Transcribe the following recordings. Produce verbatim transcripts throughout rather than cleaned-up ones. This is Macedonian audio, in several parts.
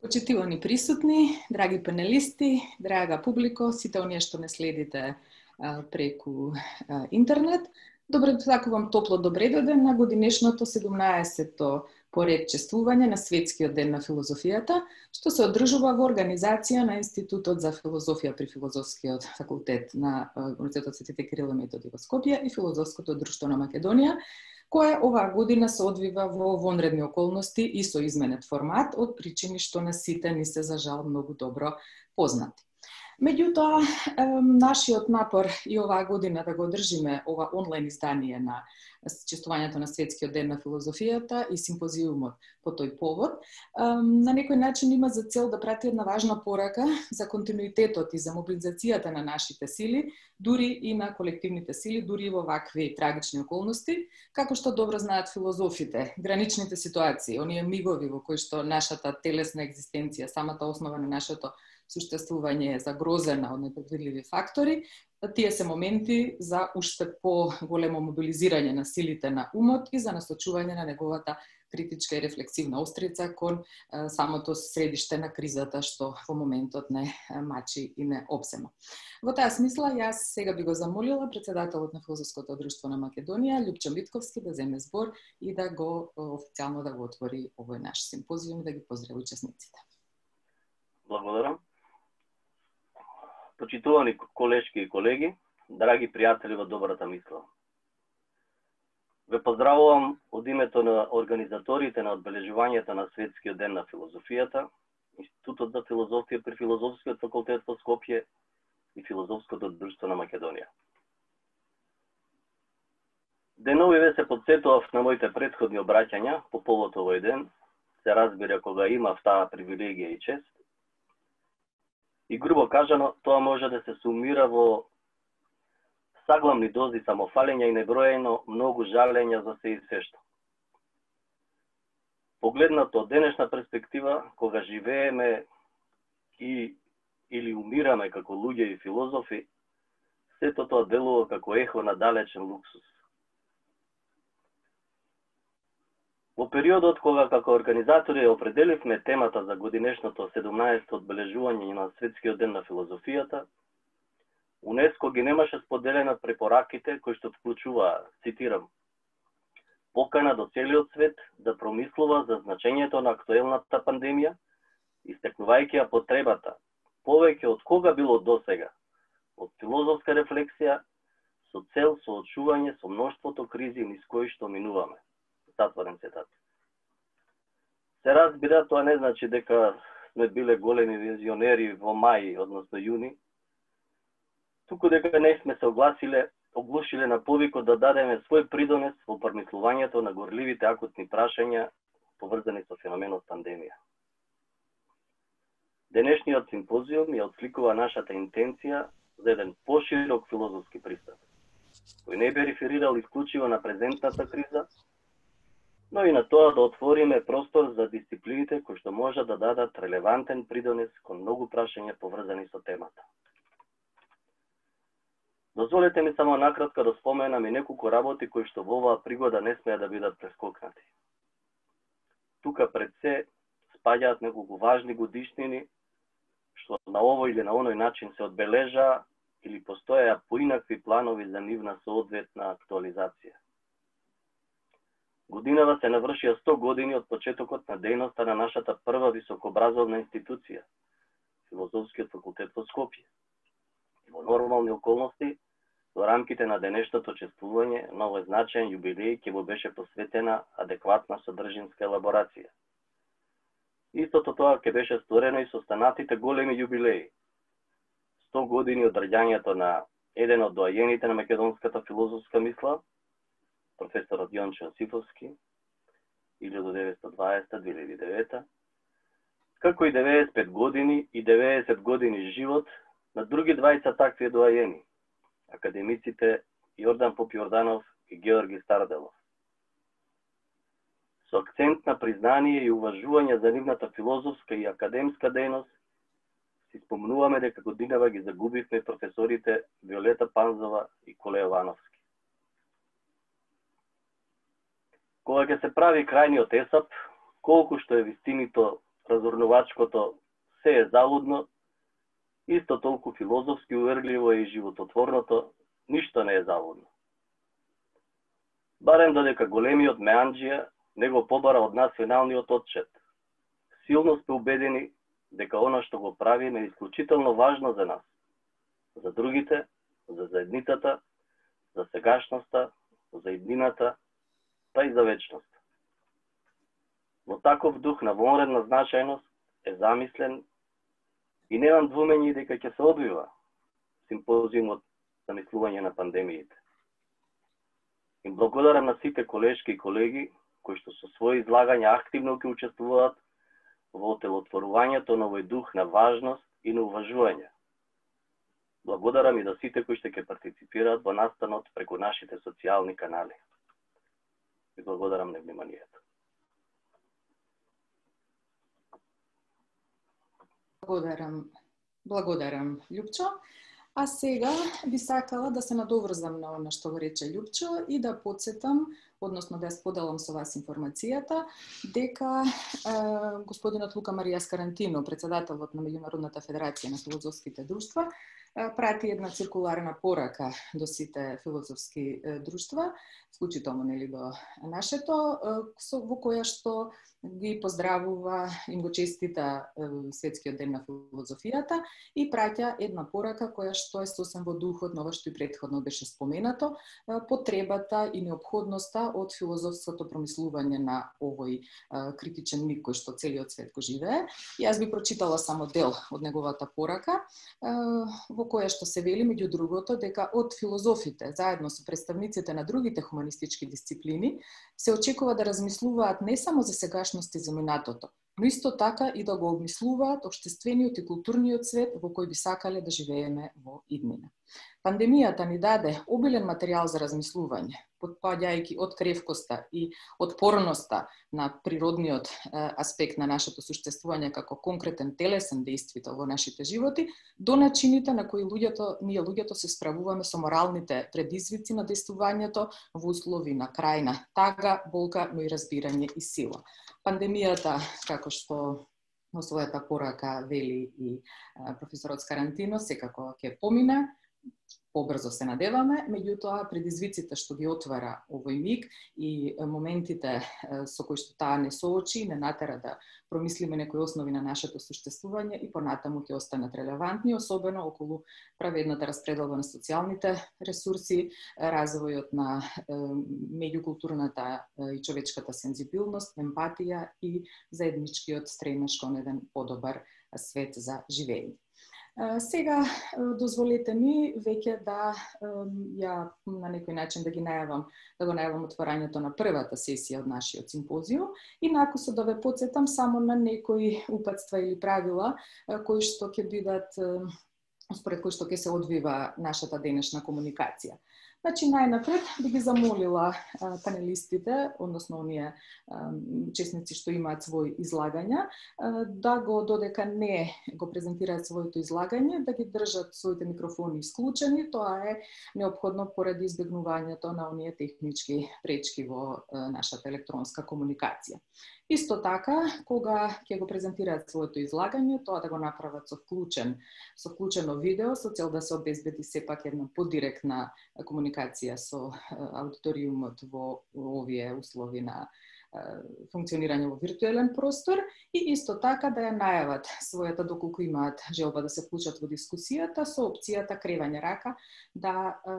Почитувани присутни, драги панелисти, драга публико, сите оние што не следите а, преку а, интернет, добре сакувам топло добре дојден на годинешното седумнаесетто поред чествување на Светскиот ден на филозофијата, што се одржува во организација на Институтот за филозофија при Филозофскиот факултет на Универзитетот Светите Кирил и Методи во Скопје и Филозофското друштво на Македонија, кое оваа година се одвива во вонредни околности и со изменет формат од причини што на сите ни се за жал многу добро познати. Меѓутоа, нашиот напор и оваа година да го одржиме ова онлайн издание на чествувањето на Светскиот ден на филозофијата и симпозиумот по тој повод, на некој начин има за цел да прати една важна порака за континуитетот и за мобилизацијата на нашите сили, дури и на колективните сили, дури и во вакви трагични околности, како што добро знаат филозофите, граничните ситуации, оние мигови во кои што нашата телесна екзистенција, самата основа на нашето суштествување е загрозена од непредвидливи фактори, тие се моменти за уште по-големо мобилизирање на силите на умот и за насочување на неговата критичка и рефлексивна острица кон е, самото средиште на кризата што во моментот не мачи и не обзема. Во таа смисла, јас сега би го замолила председателот на Филозофското друштво на Македонија, Љупчо Митковски, да земе збор и да го официјално да го отвори овој наш симпозиум и да ги поздрави учесниците. Благодарам. Почитувани колешки и колеги, драги пријатели во добрата мисла. Ве поздравувам од името на организаторите на одбележувањето на Светскиот ден на филозофијата, Институтот за филозофија при Филозофскиот факултет во Скопје и Филозофското друштво на Македонија. Деновиве се подсетував на моите претходни обраќања по повод овој ден, се разбира кога имав таа привилегија и чест. И грубо кажано, тоа може да се сумира во саглавни дози самофалење и неброено многу жалења за се и се што. Погледнато од денешна перспектива, кога живееме и или умираме како луѓе и филозофи, сето тоа делува како ехо на далечен луксус. Во периодот кога како организатори определивме темата за годинешното седумнаесетто одбележување на Светскиот ден на филозофијата, УНЕСКО ги немаше споделена препораките кои што вклучуваа, цитирам, покана до целиот свет да промислува за значењето на актуелната пандемија, истекнувајќи ја потребата, повеќе од кога било досега, од филозофска рефлексија со цел соочување со мноштвото кризи низ кои што минуваме. Затворен цитат. Се разбира, тоа не значи дека сме биле големи визионери во мај, односно јуни, туку дека не сме се огласиле, оглушиле на повикот да дадеме свој придонес во промислувањето на горливите акутни прашања поврзани со феноменот пандемија. Денешниот симпозиум ја отсликува нашата интенција за еден поширок филозофски пристап, кој не би реферирал исклучиво на презентната криза, но и на тоа да отвориме простор за дисциплините кои што може да дадат релевантен придонес кон многу прашања поврзани со темата. Дозволете ми само накратко да споменам и неколку работи кои што во оваа пригода не смеа да бидат прескокнати. Тука пред се спаѓаат неколку важни годишнини што на овој или на оној начин се одбележаа или постоеа поинакви планови за нивна соодветна актуализација. Годинава се навршија сто години од почетокот на дејноста на нашата прва високообразовна институција, Филозофскиот факултет во Скопје. И во нормални околности, во рамките на денешното чествување на овој значаен јубилеј ќе му беше посветена адекватна содржинска елаборација. Истото тоа ќе беше сторено и со останатите големи јубилеи. сто години од раѓањето на еден од доајените на македонската филозофска мисла, професорот Јончо Јосифовски, илјаду деветстотини и дваесета до две илјади и девета, како и деветдесет и пет години и деветдесет години живот на други двајца такви доајени, академиците Јордан Попјорданов и Георги Старделов. Со акцент на признание и уважување за нивната филозофска и академска дејност, си спомнуваме дека годинава ги загубивме професорите Виолета Панзова и Коле Јовановски. Кога ќе се прави крајниот есап, колку што е вистинито разурнувачкото се е залудно, исто толку филозофски увергливо и живототворното ништо не е залудно. Барем додека големиот Меанџија не го побара од нас финалниот отчет. Силно сме убедени дека она што го правиме е исклучително важно за нас, за другите, за заедницата, за сегашноста, за иднината, па и за вечноста. Во таков дух на вонредна значајност е замислен и немам двумење дека ќе се одвива симпозиумот за мислување на пандемиите. Им благодарам на сите колешки и колеги кои што со своји излагања активно ќе учествуваат во отелотворувањето на овој дух на важност и на уважување. Благодарам и да сите кои што ќе партиципираат во настанот преку нашите социјални канали. И благодарам на вниманието. Благодарам, благодарам, Љупчо. А сега би сакала да се надоврзам на она што го рече Љупчо и да потсетам, односно да ја споделам со вас информацијата, дека е, господинот Лука Марија Скарантино, председателот на Меѓународната федерација на филозофските друштва, прати една циркуларна порака до сите филозофски друштва, вклучително нели до нашето, во која што ги поздравува, им го честита Светскиот ден на филозофијата и праќа една порака која што е сосем во духот на ова што и претходно беше споменато, потребата и неопходноста од филозофското промислување на овој критичен миг кој што целиот свет го живее. Јас би прочитала само дел од неговата порака, во која што се вели меѓу другото дека од филозофите заедно со представниците на другите хуманистички дисциплини се очекува да размислуваат не само за сегашност и за минатото, но исто така и да го обмислуваат општествениот и културниот свет во кој би сакале да живееме во иднина. Пандемијата ни даде обилен материјал за размислување, потпаѓајќи од кревкоста и отпорноста на природниот аспект на нашето существување како конкретен телесен дејствител во нашите животи, до начините на кои луѓето, ние луѓето се справуваме со моралните предизвици на действувањето во услови на крајна тага, болка, но и разбирање и сила. Пандемијата, како што во својата порака вели и професорот Скарантино, секако ќе помине, побрзо се надеваме, меѓутоа предизвиците што ги отвара овој миг и моментите со кои што таа не соочи, не натера да промислиме некои основи на нашето существување и понатаму ќе останат релевантни, особено околу праведната распределба на социјалните ресурси, развојот на меѓукултурната и човечката сензибилност, емпатија и заедничкиот стремеж кон еден подобар свет за живење. Сега дозволете ми веќе да ја на некој начин да ги најавам, да го најавам отворањето на првата сесија од нашиот симпозиум и накусо да ве потсетам само на некои упатства или правила кои што ќе бидат според кои што ќе се одвива нашата денешна комуникација. Значи, најнапред би ги замолила а, панелистите, односно оние а, учесници што имаат своји излагања, а, да го додека не го презентираат своето излагање, да ги држат своите микрофони исклучени. Тоа е неопходно поради избегнувањето на оние технички пречки во а, нашата електронска комуникација. Исто така, кога ќе го презентираат своето излагање, тоа да го направат со вклучен, со вклучено видео, со цел да се обезбеди сепак една подиректна комуникација со аудиториумот во овие услови на функционирање во виртуелен простор и исто така да ја најават својата, доколку имаат желба да се вклучат во дискусијата, со опцијата кревање рака да е,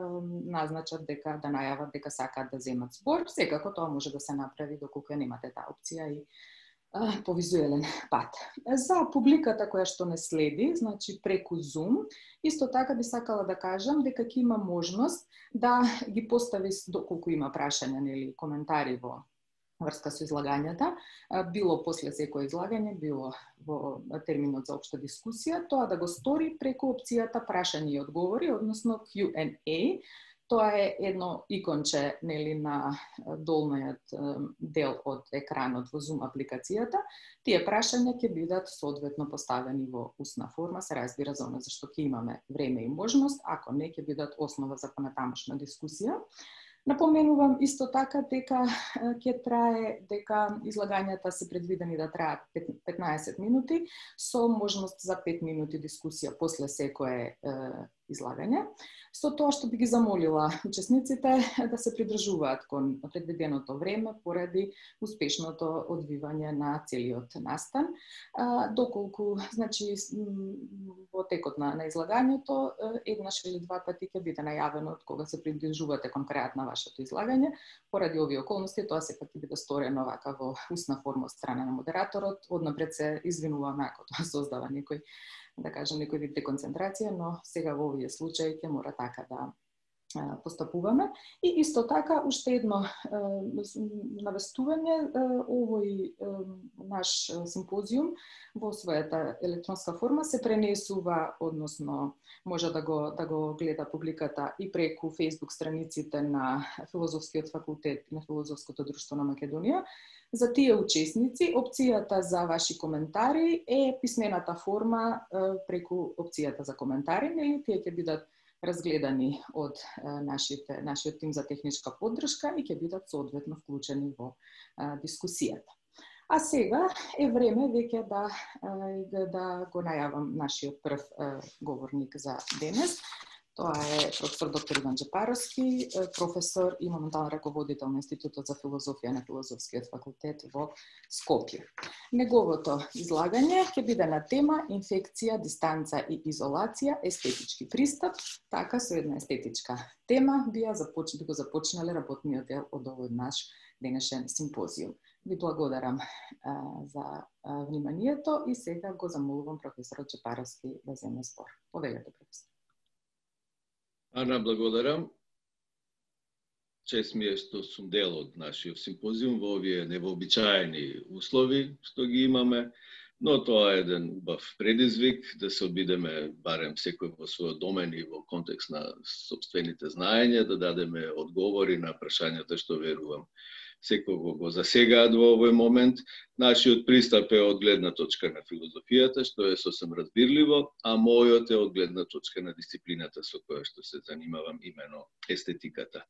назначат дека да најават дека сакаат да земат збор. Секако тоа може да се направи доколку ја немате таа опција и е, по визуелен пат. За публиката која што не следи, значи преку Zoom, исто така би сакала да кажам дека ќе има можност да ги постави доколку има прашања или коментари во врска со излагањата, било после секој излагање, било во терминот за општа дискусија, тоа да го стори преку опцијата прашања и одговори, односно Q and A. Тоа е едно иконче нели на долниот дел од екранот во Zoom апликацијата. Тие прашања ќе бидат соодветно поставени во устна форма, се разбира за она зашто ќе имаме време и можност, ако не ќе бидат основа за понатамошна дискусија. Напоменувам исто така дека ќе трае, дека излагањата се предвидени да траат петнаесет минути, со можност за пет минути дискусија после секое е, излагање. Со тоа што би ги замолила учесниците да се придржуваат кон предвиденото време поради успешното одвивање на целиот настан. А, доколку, значи, во текот на, на излагањето, еднаш или два пати ќе биде најавено од кога се придржувате кон крајот на вашето излагање. Поради овие околности, тоа сепак ќе биде сторено вака во устна форма од страна на модераторот. Однапред се извинуваме ако тоа создава некој, да кажем, некој вид деконцентрација, но сега во овие случаи ќе мора така да постапуваме. И исто така, уште едно навестување, овој наш симпозиум во својата електронска форма се пренесува, односно може да го, да го гледа публиката и преку Facebook страниците на Филозофскиот факултет и на Филозофското друштво на Македонија. За тие учесници, опцијата за ваши коментари е писмената форма преку опцијата за коментари, нели тие ќе бидат разгледани од нашите, нашиот тим за техничка поддршка и ќе бидат соодветно вклучени во а, дискусијата. А сега е време веќе да, да, да го најавам нашиот прв а, говорник за денес. Тоа е професор доктор Иван Джепаровски, професор и моментален раководител на Институтот за филозофија на Филозофскиот факултет во Скопје. Неговото излагање ќе биде на тема инфекција, дистанца и изолација, естетички пристап. Така, со една естетичка тема би, започ... би го започнале работниот дел од овој наш денешен симпозиум. Ви благодарам а, за а, вниманието и сега го замолувам професорот Джепаровски да земе збор. Повелете, професор. Ана, благодарам. Чест ми е што сум дел од нашиот симпозиум во овие невообичаени услови што ги имаме, но тоа е еден убав предизвик да се обидеме барем секој во својот домен и во контекст на сопствените знаења да дадеме одговори на прашањата што верувам секој го засегаат во овој момент. Нашиот пристап е од гледна точка на филозофијата, што е сосем разбирливо, а мојот е од гледна точка на дисциплината со која што се занимавам, имено естетиката.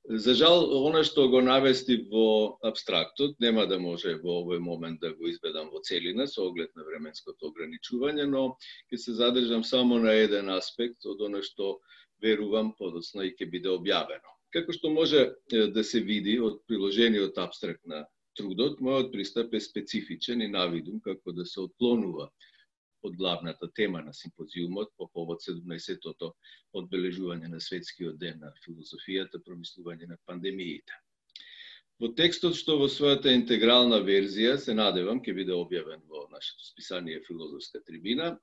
За жал, она што го навести во абстрактот, нема да може во овој момент да го изведам во целина со оглед на временското ограничување, но ќе се задржам само на еден аспект од она што верувам подоцна и ќе биде објавено. Како што може да се види од приложениот абстракт на трудот, мојот пристап е специфичен и навидум како да се отклонува од главната тема на симпозиумот по повод седумнаесеттото одбележување на светскиот ден на филозофијата, промислување на пандемиите. Во текстот што во својата интегрална верзија, се надевам, ќе биде објавен во нашето списание Филозофска трибина,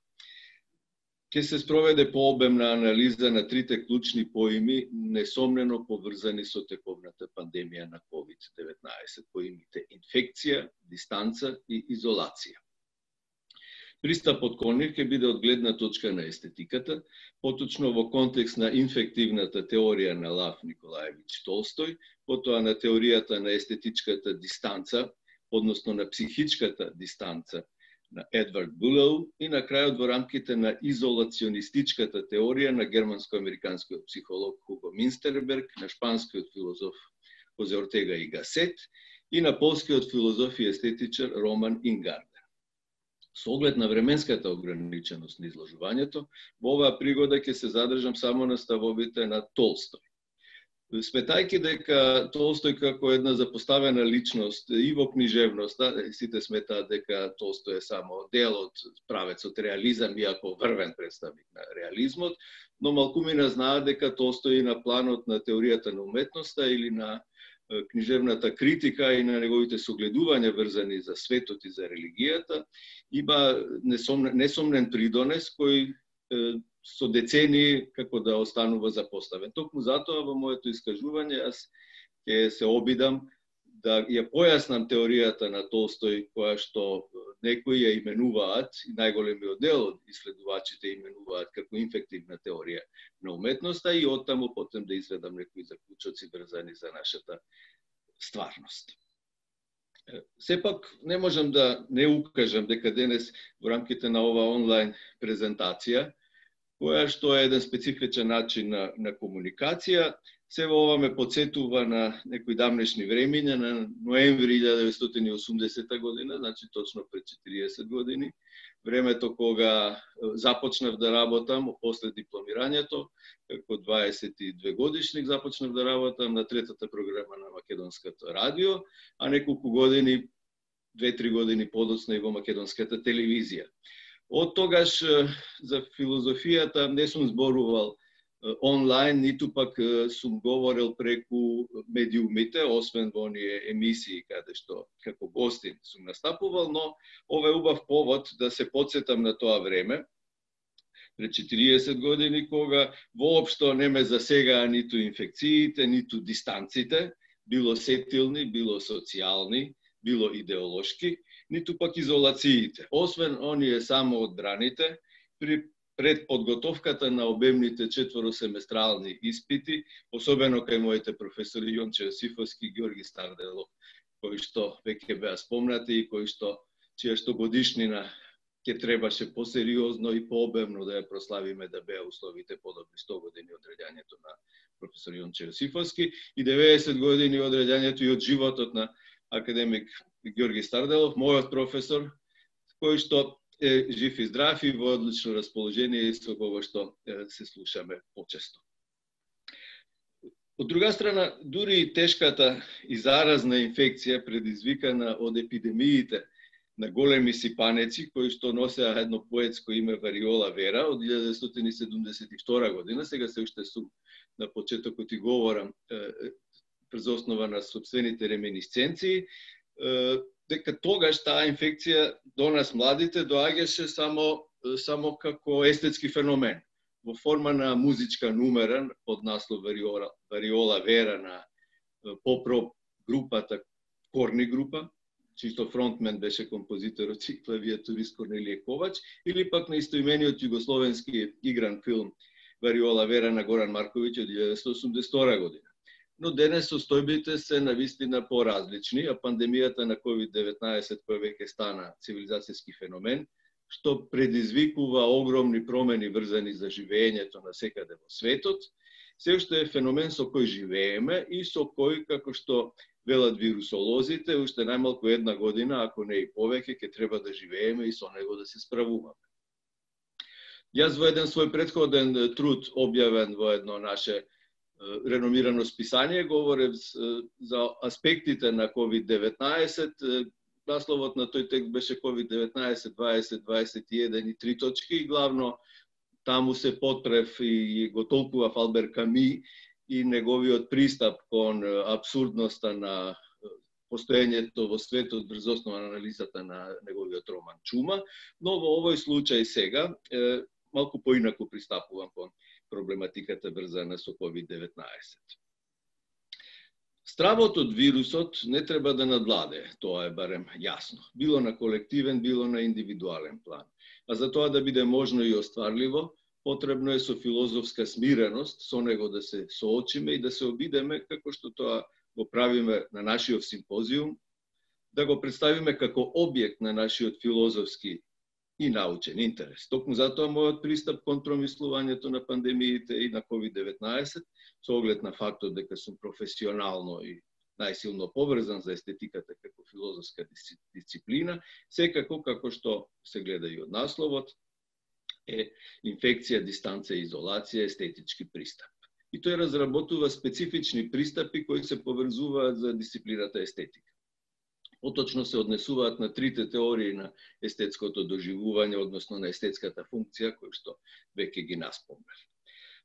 ќе се спроведе пообемна анализа на трите клучни поими, несомнено поврзани со тековната пандемија на ковид деветнаесет, поимите инфекција, дистанца и изолација. Пристапот кон нив ќе биде од гледна точка на естетиката, поточно во контекст на инфективната теорија на Лав Николаевич Толстој, потоа на теоријата на естетичката дистанца, односно на психичката дистанца на Едвард Булеу и на крајот во рамките на изолационистичката теорија на германско-американскиот психолог Хуго Минстерберг, на шпанскиот филозоф Хозе Ортега и Гасет и на полскиот филозоф и естетичар Роман Ингарден. Со оглед на временската ограниченост на изложувањето, во оваа пригода ќе се задржам само на ставовите на Толстој. Сметајќи дека Толстој како една запоставена личност и во книжевноста, сите сметаат дека Толстој е само дел од правецот реализам, иако врвен представник на реализмот, но малкумина знаат дека Толстој и на планот на теоријата на уметноста или на книжевната критика и на неговите согледувања врзани за светот и за религијата, има несомнен, несомнен придонес кој со децении како да останува запоставен. Токму затоа во моето искажување јас ќе се обидам да ја појаснам теоријата на Толстој, која што некои ја именуваат, и најголемиот дел од исследувачите именуваат како инфективна теорија на уметноста, и оттаму потем да изведам некои заклучоци врзани за нашата стварност. Сепак не можам да не укажам дека денес во рамките на ова онлайн презентација, која што е еден специфичен начин на, на комуникација, Се ова ме подсетува на некои давнешни времиња, на ноември илјада деветстотини и осумдесета година, значи точно пред четириесет години, времето кога започнав да работам после дипломирањето, како дваесет и две годишник започнав да работам на третата програма на Македонското радио, а неколку години, две-три години подоцна и во Македонската телевизија. Од тогаш за филозофијата не сум зборувал онлайн, ниту пак сум говорил преку медиумите, освен во оние емисии каде што како гостин сум настапувал, но ова е убав повод да се подсетам на тоа време, пред четириесет години, кога воопшто не ме засегаа ниту инфекциите, ниту дистанците, било сетилни, било социјални, било идеолошки, ниту пак изолациите. Освен оние само одбраните, при пред подготовката на обемните четворосеместрални испити, особено кај моите професори Јонче Јосифовски и Ѓорги Старделов, кои што веќе беа спомнати и кои што чија што годишнина ќе требаше посериозно и пообемно да ја прославиме, да беа условите подобри сто години од раѓањето на професор Јонче Јосифовски и деветдесет години од раѓањето и од животот на академик Ѓорги Старделов, мојот професор, кој што е жив и здрав и во одлично расположение и со кого што се слушаме почесто. Од друга страна, дури и тешката и заразна инфекција предизвикана од епидемиите на големи сипанеци, кои што носеа едно поетско име Вариола Вера од илјада деветстотини седумдесет и втора година, сега се уште сум на почетокот и говорам през основа на собствените реминисценции, дека тогаш таа инфекција до нас младите доаѓаше само само како естетски феномен во форма на музичка нумера под наслов Вариола, Вариола Вера на поп-рок групата Корни група, чисто фронтмен беше композиторот и клавиатурист Корнелије Ковач, или пак на истоимениот југословенски игран филм Вариола Вера на Горан Марковиќ од илјада деветстотини осумдесет и втора година. Но денес состојбите се навистина поразлични, а пандемијата на ковид деветнаесет, која веќе стана цивилизацијски феномен, што предизвикува огромни промени врзани за живеењето на секаде во светот, се уште е феномен со кој живееме и со кој, како што велат вирусолозите, уште најмалку една година, ако не и повеќе, ќе треба да живееме и со него да се справуваме. Јас во еден свој претходен труд, објавен во едно наше реномирано списание, говорев за аспектите на ковид деветнаесет. Насловот на тој текст беше ковид деветнаесет дваесет дваесет и еден и три точки и главно таму се потпрев и го толкував Албер Ками и неговиот пристап кон абсурдноста на постоењето во светот врз основа на анализата на неговиот роман Чума, но во овој случај сега малку поинаку пристапувам кон проблематиката врзана со ковид деветнаесет. Стравот од вирусот не треба да надвладе, тоа е барем јасно, било на колективен, било на индивидуален план. А за тоа да биде можно и остварливо, потребно е со филозофска смиреност со него да се соочиме и да се обидеме, како што тоа го правиме на нашиот симпозиум, да го представиме како објект на нашиот филозофски и научен интерес. Токму затоа мојот пристап кон промислувањето на пандемиите и на ковид деветнаесет, со оглед на фактот дека сум професионално и најсилно поврзан за естетиката како филозофска дисциплина, секако како што се гледа и од насловот, е инфекција, дистанција, изолација, естетички пристап. И тој разработува специфични пристапи кои се поврзуваат за дисциплината естетика. Поточно се однесуваат на трите теории на естетското доживување, односно на естетската функција, кои што веќе ги наспомнав.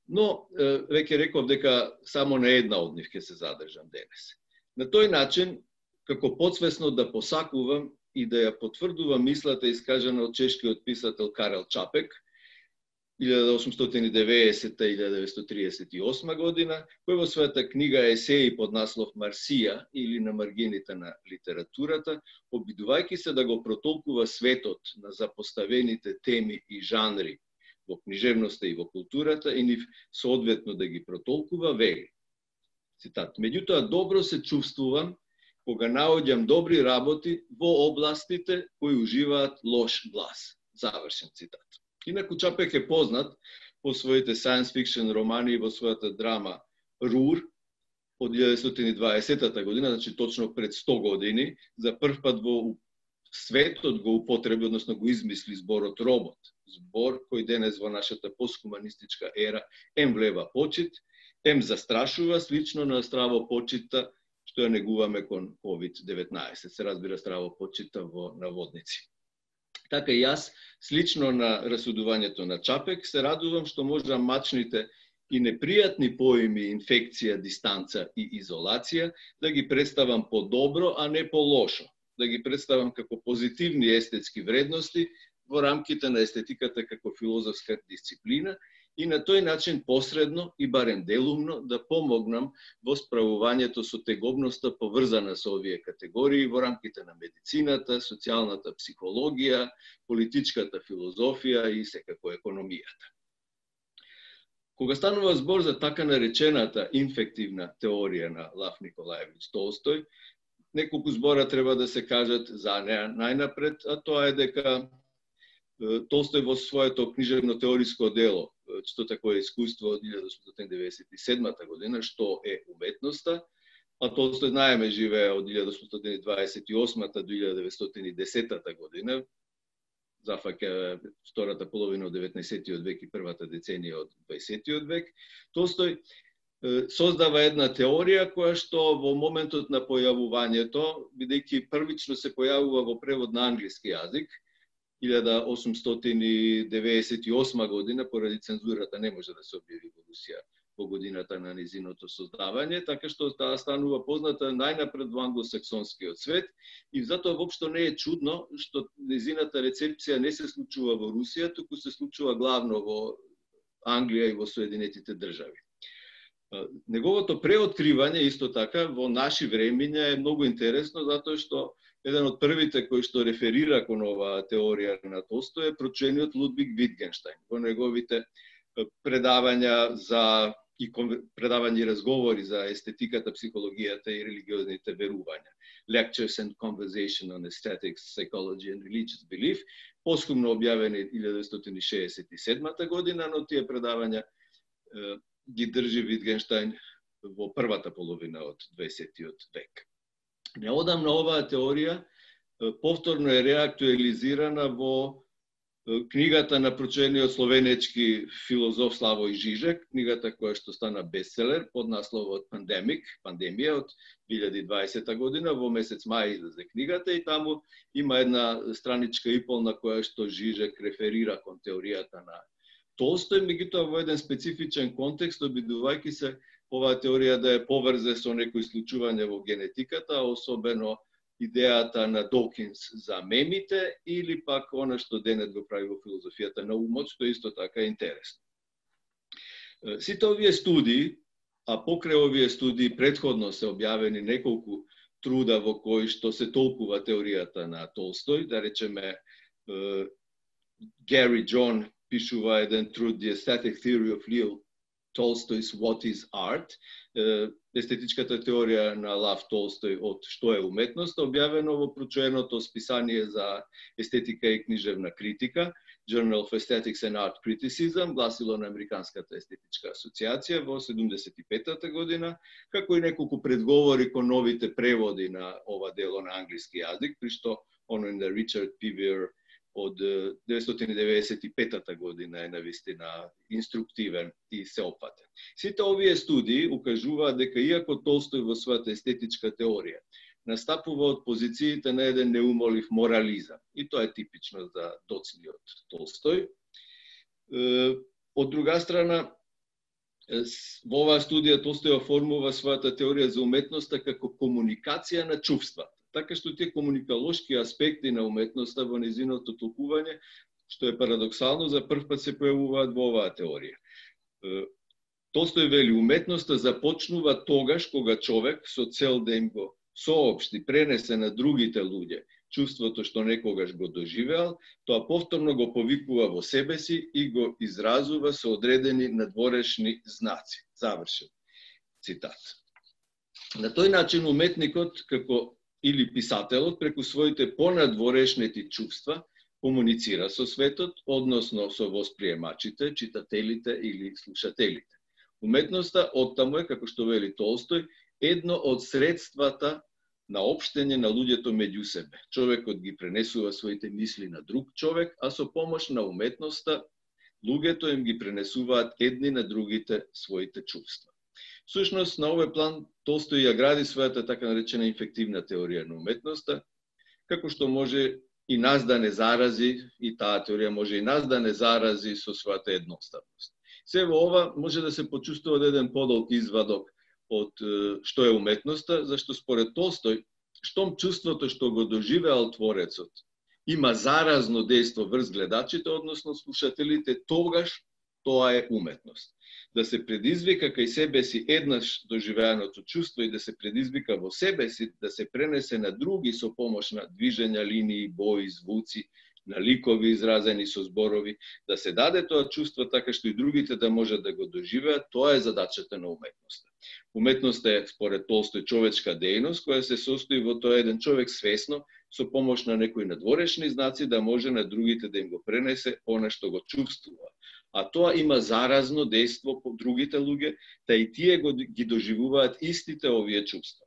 Но, веќе реков дека само на една од нив ќе се задржам денес. На тој начин, како подсвесно да посакувам и да ја потврдувам мислата искажана од чешкиот писател Карел Чапек, илјада осумстотини и деветдесета до илјада деветстотини триесет и осма година, кој во својата книга есеи под наслов Марсија или на маргините на литературата, обидувајќи се да го протолкува светот на запоставените теми и жанри во книжевноста и во културата и нив соодветно да ги протолкува, вели. Цитат: "Меѓутоа добро се чувствувам кога наоѓам добри работи во областите кои уживаат лош глас." Завршен цитат. Инаку Чапек е познат по своите science fiction романи и во својата драма Рур, од илјадесетстотини и дваесетта година, значи точно пред сто години, за прв пат во светот го употреби, односно го измисли зборот робот. Збор кој денес во нашата постхуманистичка ера ем влева почит, ем застрашува, слично на здраво почита, што ја негуваме кон ковид деветнаесет. Се разбира здраво почита во наводници. Така и јас, слично на расудувањето на Чапек, се радувам што можам мачните и непријатни поими инфекција, дистанца и изолација да ги представам по-добро, а не по-лошо. Да ги представам како позитивни естетски вредности во рамките на естетиката како филозофска дисциплина и на тој начин посредно и барем делумно да помогнам во справувањето со тегобноста поврзана со овие категории во рамките на медицината, социјалната психологија, политичката филозофија и секако економијата. Кога станува збор за така наречената инфективна теорија на Лав Николаевич Толстој, неколку збора треба да се кажат за неа најнапред, а тоа е дека Толстој во своето книжевно теориско дело, што такое искуство од илјадесет осумстотини деветдесет и седма година, што е уметноста, а Толстој знаеме живее од илјадесет осумстотини дваесет и осма до илјадесет деветстотини и десета година, зафаќа втората половина од деветнаесеттиот век и првата деценија од дваесеттиот век. Толстој создава една теорија која што во моментот на појавувањето, бидејќи првично се појавува во превод на англиски јазик, илјада осумстотини деветдесет и осма година, поради цензурата не може да се објави во Русија во годината на незиното создавање, така што таа станува позната најнапред во англосаксонскиот свет и затоа воопшто не е чудно што незината рецепција не се случува во Русија, туку се случува главно во Англија и во Соединетите држави. Неговото преоткривање исто така во наши времиња е многу интересно затоа што еден од првите кој што реферира кон оваа теорија на Толстој е прочениот Лудвиг Витгенштајн во неговите предавања за и предавања и разговори за естетиката, психологијата и религиозните верувања. Lectures and Conversation on Aesthetics, Psychology and Religious Belief, посхумно објавени илјада деветстотини шеесет и седма година, но тие предавања е, ги држи Витгенштајн во првата половина од дваесеттиот век. Неодамна оваа теорија повторно е реактуализирана во книгата на прочениот словенечки филозоф Славој Жижек, книгата која што стана бестселер под насловот Pandemic, пандемија од илјада и дваесета година, во месец мај излезе книгата и таму има една страничка и пол на која што Жижек реферира кон теоријата на Толстој, меѓутоа во еден специфичен контекст, обидувајќи се оваа теорија да е поврзе со некои случување во генетиката, особено идејата на Докинс за мемите или пак она што денес го прави во филозофијата на умот, што исто така е интересно. Сите овие студии, а покрај овие студии претходно се објавени неколку труда во кои што се толкува теоријата на Толстој, да речеме Гари Джон пишува еден труд The Aesthetic Theory of Leo Tolstoy's What is Art, естетичката теорија на Лав Толстој од што е уметност, објавено во прочуеното списание за естетика и книжевна критика, Journal of Aesthetics and Art Criticism, гласило на Американската естетичка асоциација во седумдесет и петата година, како и неколку предговори кон новите преводи на ова дело на англиски јазик, при што оној на Ричард Пивер од деветстотини деветдесет и петата година е навистина инструктивен и сеопфатен. Сите овие студии укажуваат дека иако Толстој во својата естетичка теорија настапува од позициите на еден неумолив морализам, и тоа е типично за доцниот Толстој. Од друга страна, во оваа студија Толстој оформува својата теорија за уметноста како комуникација на чувства. Така што тие комуникалошки аспекти на уметноста во незиното толкување, што е парадоксално, за прв пат се појавуваат во оваа теорија. Толстој вели, уметноста започнува тогаш кога човек со цел да им го соопшти, пренесе на другите луѓе чувството што некогаш го доживеал, тоа повторно го повикува во себе си и го изразува со одредени надворешни знаци. Завршен цитат. На тој начин уметникот, како или писателот, преку своите понадворешнети чувства, комуницира со светот, односно со восприемачите, читателите или слушателите. Уметноста, оттаму е, како што вели Толстој, едно од средствата на општење на луѓето меѓу себе. Човекот ги пренесува своите мисли на друг човек, а со помош на уметноста, луѓето им ги пренесуваат едни на другите своите чувства. Сушност, на овој план, Толстој ја гради својата така наречена инфективна теорија на уметноста, како што може и нас да не зарази, и таа теорија може и нас да не зарази со својата едноставност. Се во ова може да се почувствува еден подолг извадок од што е уметноста, зашто според Толстој, штом чувството што го доживеал творецот има заразно дејство врз гледачите, односно слушателите, тогаш тоа е уметност. Да се предизвика кај себе си еднаш доживеаното чувство и да се предизвика во себе си, да се пренесе на други со помош на движења, линии, бои, звуци, на ликови изразени со зборови, да се даде тоа чувство така што и другите да можат да го доживеат, тоа е задачата на уметноста. Уметноста е, според Толстој, човечка дејност, која се состои во тоа еден човек свесно, со помош на некои надворешни знаци, да може на другите да им го пренесе она што го чувствува. А тоа има заразно дејство по другите луѓе, да и тие го, ги доживуваат истите овие чувства.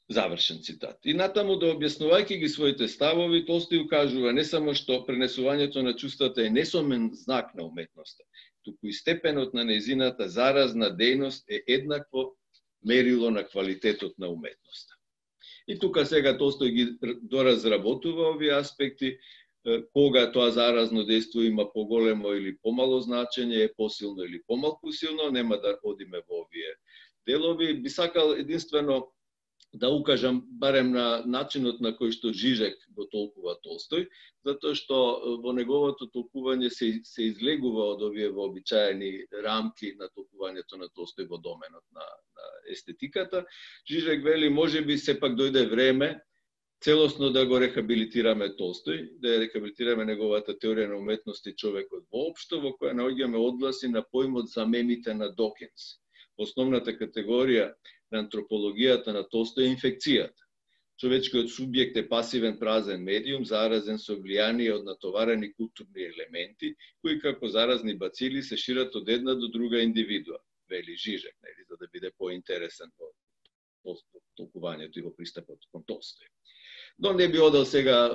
Завршен цитат. И натаму, да објаснувајќи ги своите ставови, Толстој укажува не само што пренесувањето на чувствата е несомен знак на уметноста, туку и степенот на нејзината заразна дејност е еднакво мерило на квалитетот на уметноста. И тука сега Толстој ги доразработува овие аспекти, кога тоа заразно дејство има поголемо или помало значење, е посилно или помалку силно, нема да одиме во овие делови. Би сакал единствено да укажам барем на начинот на кој што Жижек го толкува Толстој, затоа што во неговото толкување се, се излегува од овие вообичаени рамки на толкувањето на Толстој во доменот на, на естетиката. Жижек вели, може би сепак дојде време целосно да го рехабилитираме Толстој, да ја рехабилитираме неговата теорија на уметност и човекот воопшто, во која наоѓаме одгласи на поимот замените на Докинс. Основната категорија на антропологијата на Толстој е инфекцијата. Човечкиот субјект е пасивен празен медиум, заразен со влијание од натоварени културни елементи, кои како заразни бацили се шират од една до друга индивидуа, вели Жижек, нели, за да биде поинтересен во толкувањето и во пристапот кон Толстој. Но не би одел сега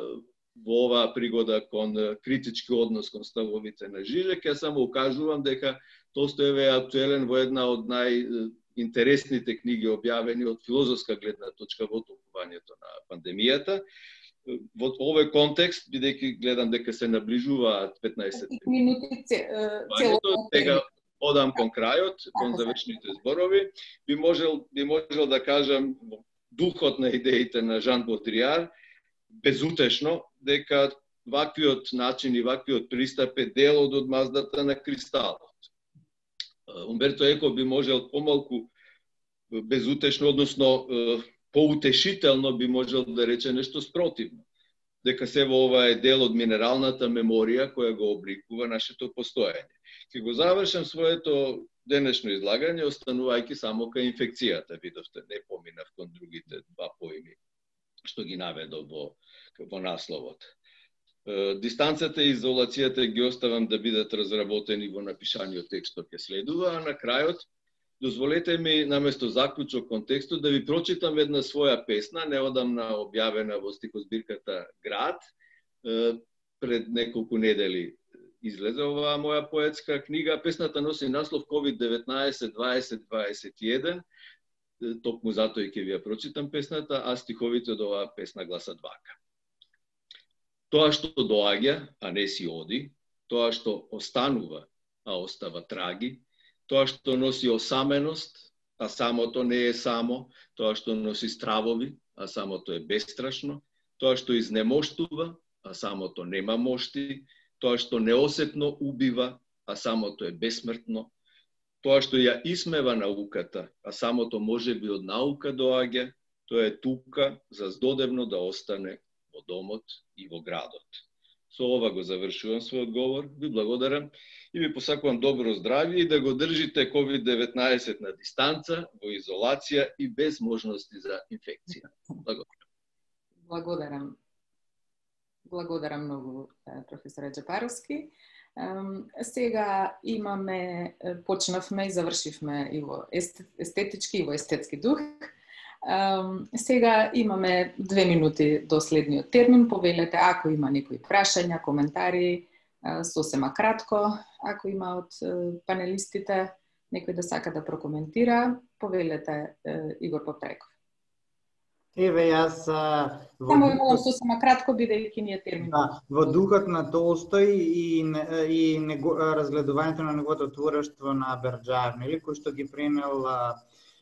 во оваа пригода кон критички однос кон ставовите на Жижек, ја само укажувам дека Толстој е актуелен во една од најинтересните книги објавени од филозофска гледна точка во толкувањето на пандемијата. Во овој контекст, бидејќи гледам дека се наближуваат петнаесет минути цело сега одам кон крајот, кон завршните зборови, би можел би можел да кажам духот на идеите на Жан Бодријар, безутешно, дека ваквиот начин и ваквиот пристап е дел од одмаздата на кристалот. Умберто Еко би можел помалку безутешно, односно поутешително би можел да рече нешто спротивно. Дека се во ова е дел од минералната меморија која го обликува нашето постоење. Ке го завршам своето денешно излагање, останувајќи само кај инфекцијата. Видовте, не поминав кон другите два поими што ги наведов во, во насловот. Дистанцата и изолацијата ги оставам да бидат разработени во напишаниот текст што ќе следува, а на крајот дозволете ми наместо заклучок кон текстот да ви прочитам една своја песна, неодамна објавена во стихозбирката Град. Пред неколку недели излезе оваа моја поетска книга. Песната носи наслов ковид деветнаесет дваесет дваесет и еден. Токму затоа и ќе ви ја прочитам песната, а стиховите од оваа песна гласат вака. Тоа што доаѓа, а не си оди, тоа што останува, а остава траги, тоа што носи осаменост, а самото не е само, тоа што носи стравови, а самото е бестрашно, тоа што изнемоштува, а самото нема мошти, тоа што неосетно убива, а самото е бесмртно, тоа што ја исмева науката, а самото може би од наука доаѓа, тоа е тука за здодевно да остане во домот и во градот. Со ова го завршувам својот говор, ви благодарам и ви посакувам добро здравје и да го држите ковид деветнаесет на дистанца, во изолација и без можности за инфекција. Благодарам. Благодарам. Благодарам многу, професоре Джапаровски. Сега имаме, почнавме и завршивме и во естетички и во естетски дух. Сега имаме две минути до следниот термин. Повелете ако има некои прашања, коментари, сосема кратко, ако има од панелистите некој да сака да прокоментира, повелете, Игор Поптреков. Еве, јас... Само ви молам сосема кратко, бидејќи ние термин. Да, во духот на Толстој и, и него, разгледувањето на неговото творештво на Берџаев, нели, кој што ги пренел а,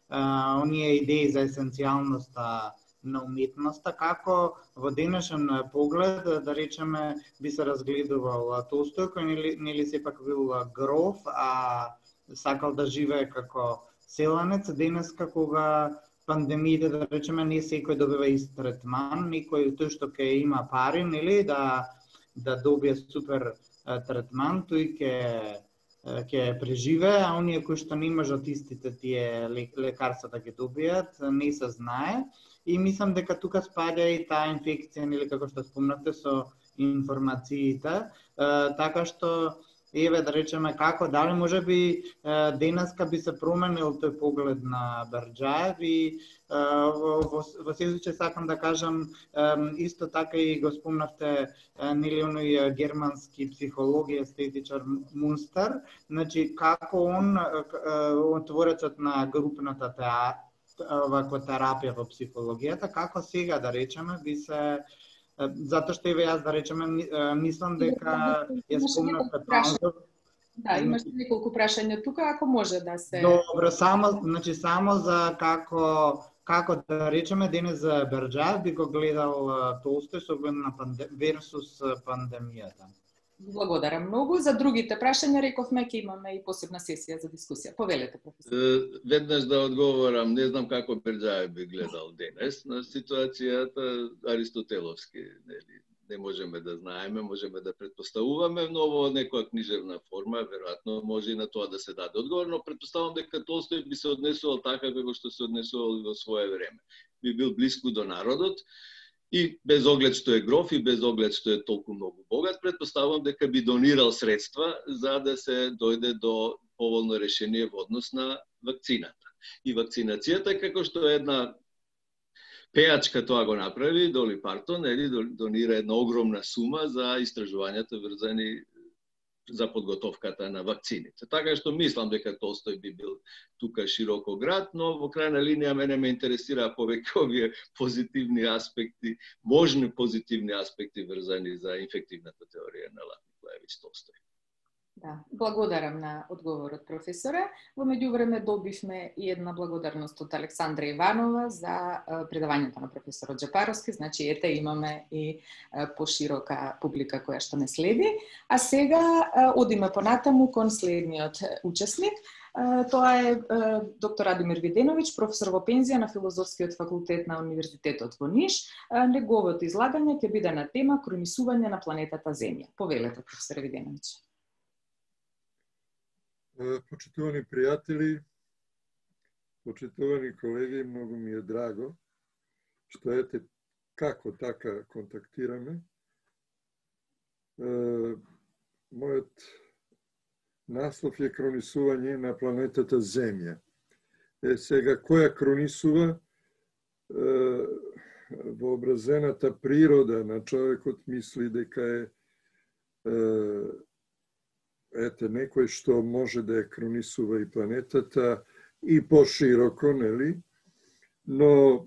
а, оние идеи за есенцијалноста на уметноста, како во денешен поглед, да речеме, би се разгледувал Толстој, кој нели, нели сепак бил гроф, а сакал да живее како селанец. Денеска, кога пандемиите, да речеме, не секој добива ист третман, некој тој што ќе има пари, нели, да да добие супер третман, тој ќе ќе преживее, а оние кои што не можат истите тие лекарства да ги добијат, не се знае. И мислам дека тука спаѓа и таа инфекција, нели, како што спомнавте, со информациите, така што еве, да речеме, како, дали може би денеска би се променил тој поглед на Берџаев и во, во случај сакам да кажам, исто така и го спомнавте, нели, оној германски психолог и естетичар Мунстер, значи како он, творецот на групната ваква терапија во психологијата, како сега, да речеме, би се... Затоа што еве јас, да речеме, мислам дека ја спомнавте Панзов. Да, имаш неколку прашања тука, ако може да се... Добро, само, значи, само за како, како да речеме, денес за Берџаев би го гледал Толстој со оглед на панде... версус пандемијата. Благодарам многу. За другите прашања рековме ќе имаме и посебна сесија за дискусија. Повелете, професор. Веднаш да одговорам, не знам како Берџаев би гледал денес на ситуацијата аристотеловски, нели? Не можеме да знаеме, можеме да предпоставуваме, но во некоја книжевна форма веројатно може и на тоа да се даде одговор, но предпоставувам дека Толстој би се однесувал така како што се однесувал во свое време. Би бил блиску до народот. И без оглед што е гроф и без оглед што е толку многу богат, предпоставувам дека би донирал средства за да се дојде до поволно решение во однос на вакцината. И вакцинацијата, како што е една пејачка тоа го направи, Доли Партон, ели, донира една огромна сума за истражувањата врзани за подготовката на вакцините. Така што мислам дека Толстој би бил тука широко град, но во крајна линија мене ме интересира повеќе овие позитивни аспекти, можни позитивни аспекти врзани за инфективната теорија на Лев Николаевиќ Толстој. Да, благодарам на одговорот, професоре. Во меѓувреме добивме и една благодарност од Александра Иванова за предавањето на професорот Джапаровски, значи ете имаме и поширока публика која што не следи. А сега одиме понатаму кон следниот учесник. Тоа е доктор Радимир Виденовиќ, професор во пензија на Филозофскиот факултет на Универзитетот во Ниш. Неговото излагање ќе биде на тема кронисување на планетата Земја. Повелете, професор Виденовиќ. Почитувани пријатели, почитувани колеги, многу ми е драго што ете како така контактираме. Мојот наслов е кронисување на планетата Земја. Е, сега, која кронисува? Вообразената природа на човекот мисли дека е ете, некој што може да ја кронисува и планетата и пошироко, нели? Но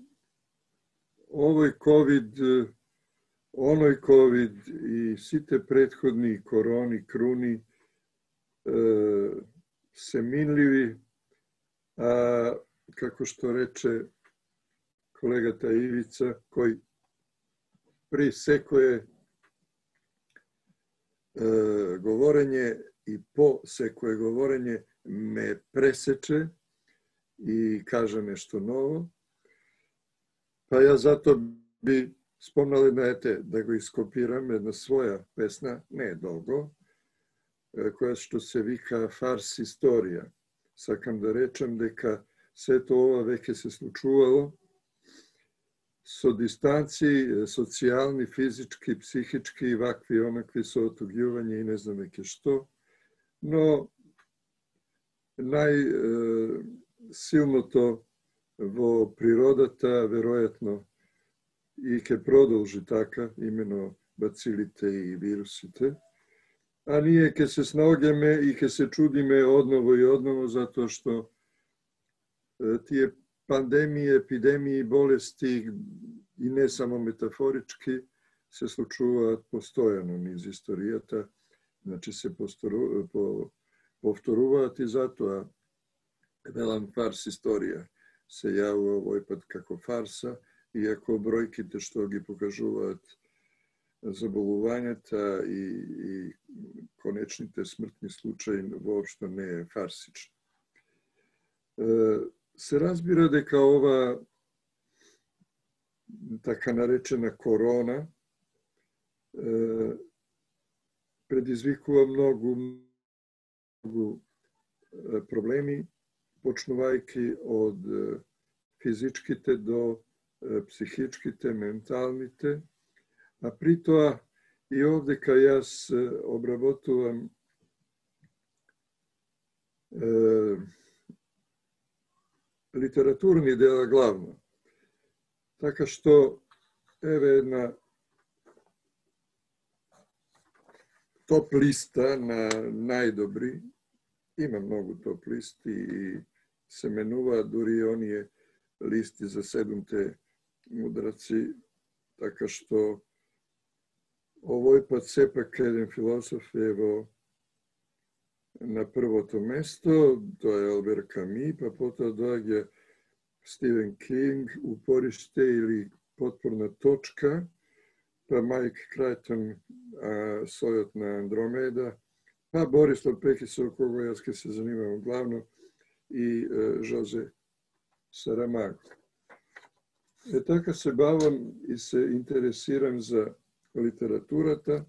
овој ковид, оној ковид и сите претходни корони, круни се минливи, а како што рече колегата Ивица, кој при секое говорење и по секое говорење ме пресече и каже нешто ново. Па ја зато би спомнал една, ете, да го ископирам, една своја песна, не е долго, која што се вика Фарс историја. Сакам да речем дека сето ова веќе се случувало со дистанци, социјални, физички, психички, вакви, онакви, со отугјување и не знам веќе што. Но најсилното во природата, веројатно, и ќе продолжи така, имено бацилите и вирусите. А ние ќе се снаоѓаме и ќе се чудиме одново и одново, затоа што тие пандемии, епидемии, болести и не само метафорички се случуваат постојано низ историјата, значи се повторуваат и затоа велам фарс историја се јавува овој пат како фарса, иако бројките што ги покажуваат заболувањата и, и конечните смртни случаи воопшто не е фарсично. Се разбира дека ова така наречена корона предизвикува многу, многу проблеми, почнувајќи од физичките до психичките, менталните, а при тоа и овдека јас обработувам е, литературни дела главно. Така што еве една топ листа на најдобри, има многу топ листи и се менуваат дури оние листи за седумте мудраци, така што овој пат сепак еден философ е во на првото место, тоа е Албер Ками, па потоа доаѓа Стивен Кинг, Упориште или Потпорна точка, па Майк Крајтон, Сојот на Андромеда, па Борислав Пекис, со кого јас ке се занимавам главно, и Жозе Сарамаго. Е така се бавам и се интересирам за литературата,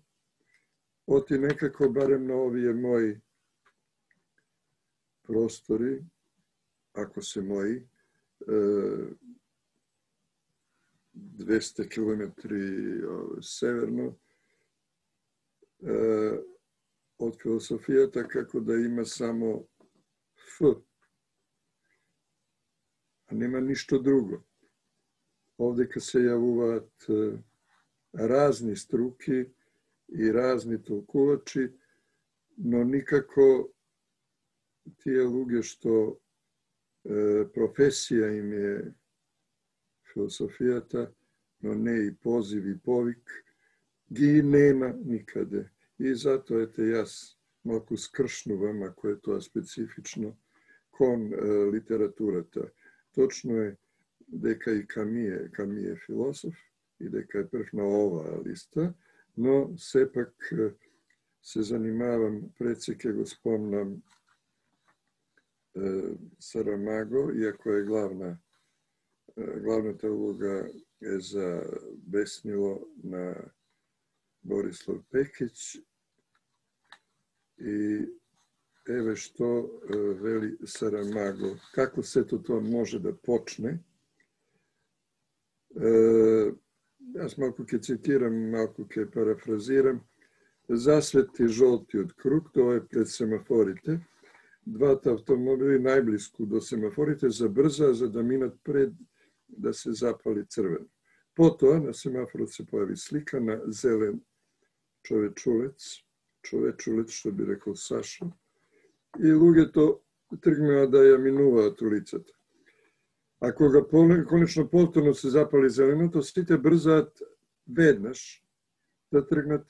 оти некако барем на овие мои простори, ако се мои, двесте километри северно од философијата, како да има само Ф, а нема ништо друго. Овдека се јавуваат разни струки и разни толкувачи, но никако тие луѓе што е, професија им е философијата, но не и позив и повик, ги нема никаде. И затоа ете јас малку скршнувам, ако е тоа специфично, кон е, литературата. Точно е дека и Ками е, Ками е философ и дека е прв на оваа листа, но сепак се занимавам, пред се ќе го спомнам е, Сарамаго, иако е главна, е, главната улога е за Беснило на Борислав Пекиć и еве што е, вели Сарамаго, како сето тоа може да почне. Е, јас малку ќе цитирам, малку ќе парафразирам. Засвети жолтиот круг, тоа е пред семафорите. Двата автомобили најблиску до семафорите забрзаа за да минат пред да се запали црвено. Потоа на семафорот се појави слика на зелен човечулец, човечулец што би рекол Сашо, и луѓето тргнаа да ја минуваат улицата. А кога конечно повторно се запали зеленото, сите брзаат веднаш да тргнат.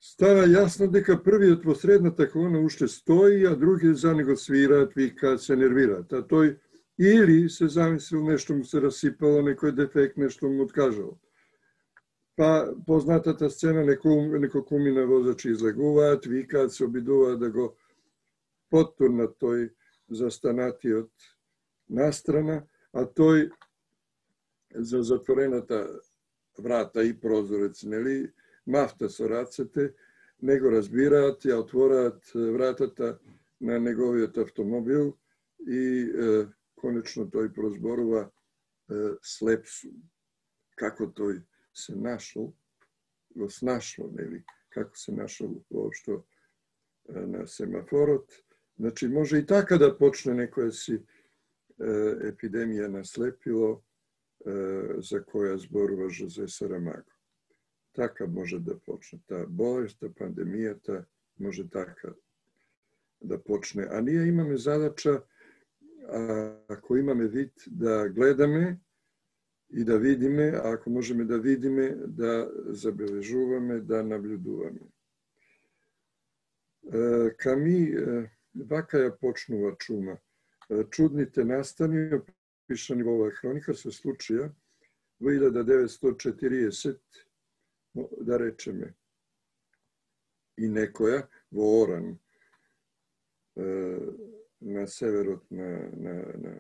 Става јасно дека првиот во средната колона уште стои, а други за него свираат, викаат, се нервираат. А тој или се замислил, нешто му се расипало, некој дефект, нешто му откажал. Па познатата сцена, некој кумина возачи излегуваат, викаат, се обидуваат да го поттурнат тој застанатиот настрана, а тој за затворената врата и прозорец, нели, мафта со рацете, не го разбираат, ја отвораат вратата на неговиот автомобил и е, конечно тој прозборува слеп сум. Како тој се нашол, го снашло, нели? Како се нашол воопшто на семафорот. Значи, може и така да почне некоја си епидемија на слепило за која зборува Жозе Сарамаго. Така може да почне. Таа болест, пандемијата може така да почне. А ние имаме задача, ако имаме вид, да гледаме и да видиме, а ако можеме да видиме, да забележуваме, да наблюдуваме. Ками вака ја почнува чума. Чудните настани, опишани во оваа хроника, се случија во илјада деветстотини и четириесет, да речеме, и некоја во Оран, на северот на, на, на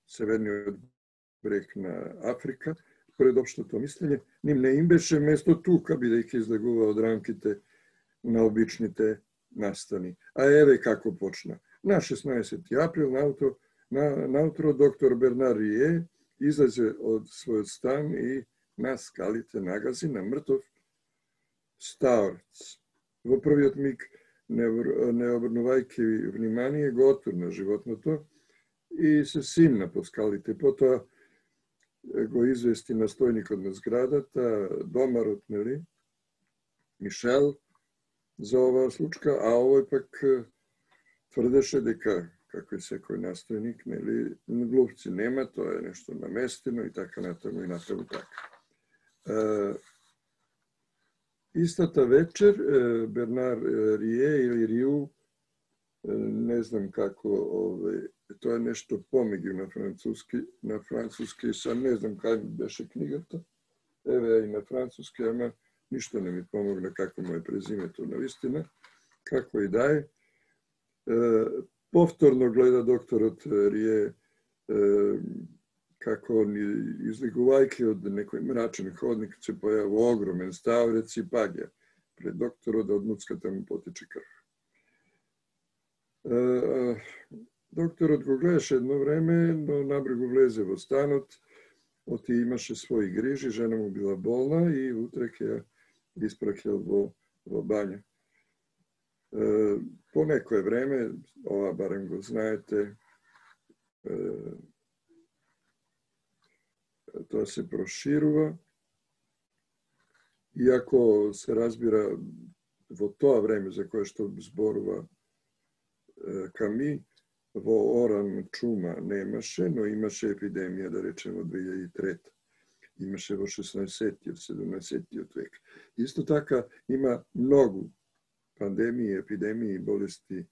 северниот брег на Африка, пред општото мислење, ним не им беше место тука, бидејќи излегува од рамките на обичните настани. А еве како почна. На шеснаесети април наутро, на, наутро доктор Бернар Рие излезе од својот стан и на скалите нагази на мртов старец. Во првиот миг, не, не обрнувајќи внимание, го отурна животното и се симна по скалите. Потоа го извести настојникот на зградата, домарот, нели, Мишел, за оваа случка, а овој пак тврдеше дека, како и секој настојник, нели, глупци нема, тоа е нешто наместено и така натаму и натаму така. Истата вечер Бернар Рие или Риу, не знам како, овој, тоа е нешто помеѓу на француски, на француски, сам не знам кај беше книгата, еве и на француски, ама ништо не ми помогна како му е презимето на вистина, како и да е. Повторно гледа докторот Рие како излегувајќи од некој мрачен ходник се појава огромен ставрец и паѓа пред докторот, од муцката му потече крв. Докторот го гледаше едно време, но набрегу влезе во станот, оти имаше своји грижи, жена му била болна и утре ќе ја испраќал во, во бања. По некое време, ова барем го знаете, тоа се проширува, иако се разбира во тоа време за кое што зборува Ками, во Оран чума немаше, но имаше епидемија, да речем, во две илјади и трета. Имаше во шеснаесеттиот, седумнаесеттиот век. Исто така има многу пандемии, епидемии и болести е,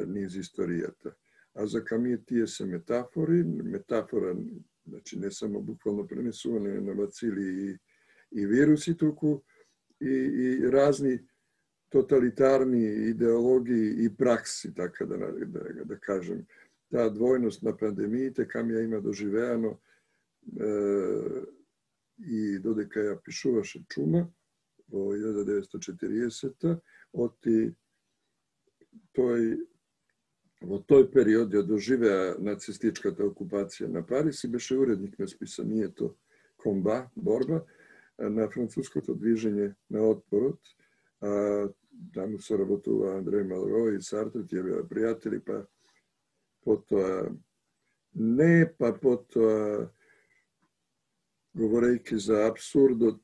низ историјата. А за Ками тие се метафори, метафора, значи не само буквално пренесување на бацили и, и вируси, туку и, и разни тоталитарни идеологии и пракси, така да, да, да кажем. Таа двојност на пандемиите, Ками ја има доживеано е, и додека ја пишуваше чума во илјада деветстотини и четириесета, оти тој во тој период ја доживеа нацистичката окупација на Париз и беше уредник на списанието Комба, борба, на француското движење на отпорот. А, таму соработува Андреј Малро и Сартр, тие беа пријатели, па потоа не, па потоа говорејќи за абсурдот,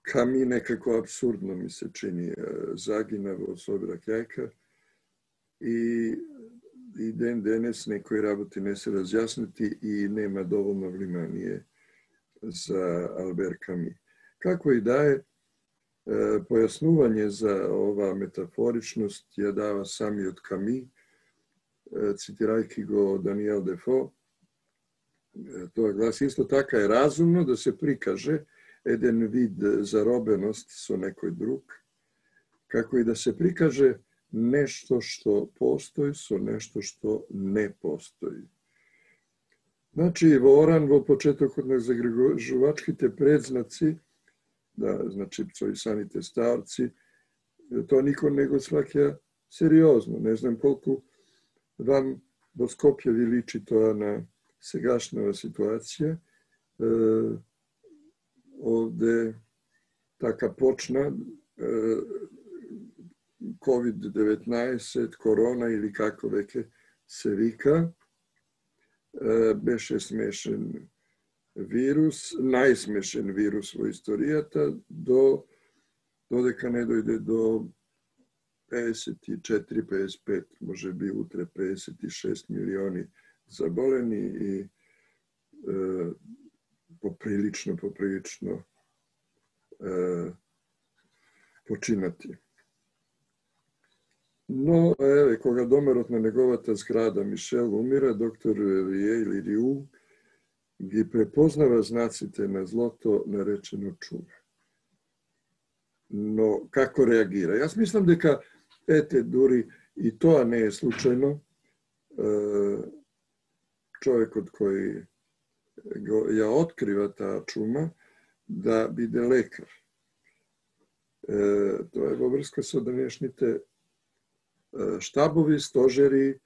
Ками некако абсурдно ми се чини, загина во Собирак јајка и, и ден денес некои работи не се разјаснети и нема доволно внимание за Албер Ками. Како и да е, појаснување за оваа метафоричност ја дава самиот Ками, цитирајќи го Даниел Дефо. Тоа гласи: исто така е разумно да се прикаже еден вид заробеност со некој друг, како и да се прикаже нешто што постои со нешто што не постои. Значи, во Оран, во почетокот на загрижувачките предзнаци, да, значи, псоисаните старци, тоа никој не го сваќа сериозно. Не знам колку вам во Скопје ви личи тоа на сегашната ситуација. Овде така почна ковид деветнаесет, корона или како веќе се вика. Беше смешен вирус, најсмешен вирус во историјата, до додека не дојде до педесет и четири педесет и пет, може би утре педесет и шест милиони заболени и е, поприлично, поприлично е, починати. Но, еве, кога домерот на неговата зграда Мишел умира, доктор Рие или Риу ги препознава знаците на злото наречено чума. Но како реагира? Јас мислам дека, ете, дури и тоа не е случајно. Човекот кој ја открива таа чума да биде лекар. Тоа е во врска со денешните штабови, стожери,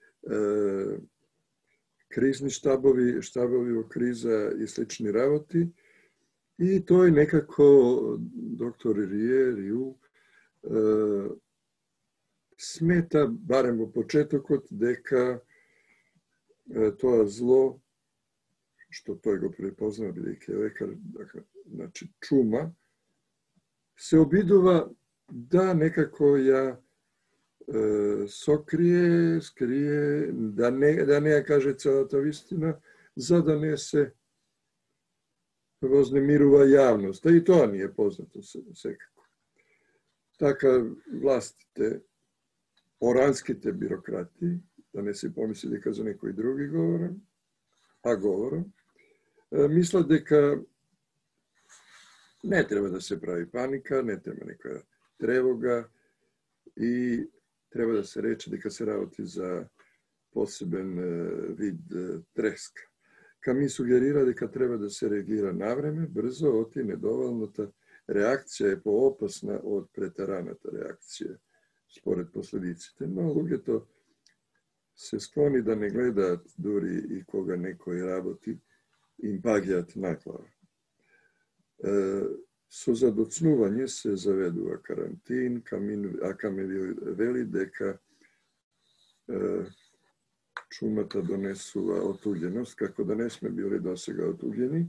кризни штабови, штабови во криза и слични работи. И тој некако, доктор Рие, Риу, смета, барем во почетокот, дека тоа зло, што тој го препознава, бидејќи лекар, значи чума, се обидува да некако ја сокрие, скрие, да не, да не ја каже целата вистина, за да не се вознемирува јавноста. И тоа ни е познато секако. Така властите, оранските бюрократи, да не се помисли дека за некои други говорам, а говорам, мислат дека не треба да се прави паника, не треба некоја тревога и треба да се рече дека се работи за посебен вид треска. Ками сугерира дека треба да се реагира навреме, брзо, оти недоволната реакција е поопасна од претараната реакција, според последиците. Но луѓето се склони да не гледаат дури и кога некој работи, им паѓаат на глава. Со задоцнување се заведува карантин, а Камил вели дека чумата донесува отуѓеност, како да не сме били досега отуѓени,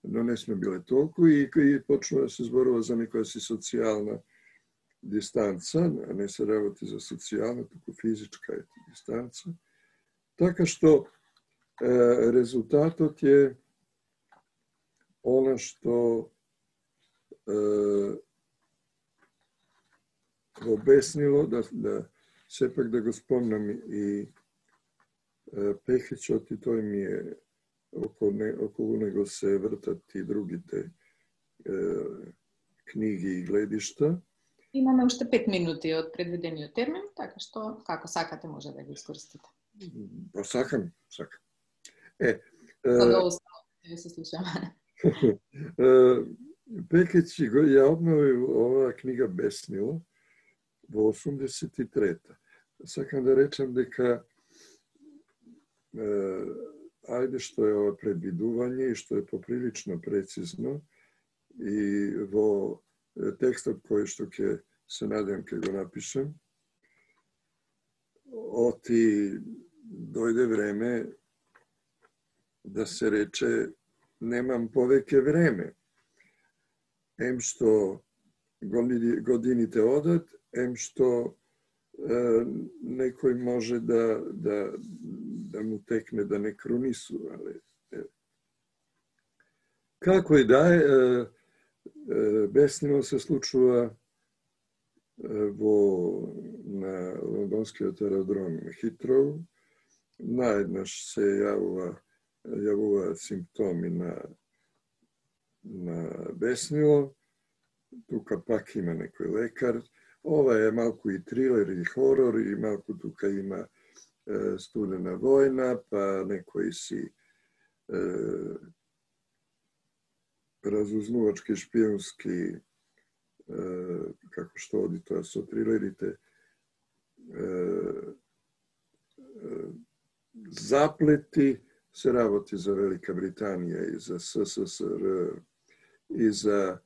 но не сме биле толку и, и почнува да се зборува за некоја си социјална дистанца, а не се работи за социјална, туку физичка дистанца. Така што е, резултатот е она што е, го обеснило, да, да сепак да го спомнам и Пехичот, и тој ми е, околу, не, околу него се вртат и другите е, книги и гледишта. Имаме уште пет минути од предвидениот термин, така што како сакате може да го искористите. Па сакам, сакам. Е, Кога оставате, се слушаме. Пекич го ја обновил оваа книга Беснило во осумдесет и трета. Сакам да речам дека ајде што е ова предвидување и што е поприлично прецизно и во текстот кој што ќе се надевам ќе го напишем, оти дојде време да се рече немам повеќе време. Ем што годините одат, ем што е, некој може да, да, да му текне да не кронисува. Како и да е, Беснило се случува во на лондонскиот аеродром Хитроу. Наеднаш се јавува јавуваат симптоми на на Беснило. Тука пак има некој лекар. Ова е малку и трилер и хорор, и малку тука има е, студена војна, па некои си е, разузнувачки, шпионски, е, како што оди тоа со трилерите, е, е, заплети се работи за Велика Британија и за СССР и за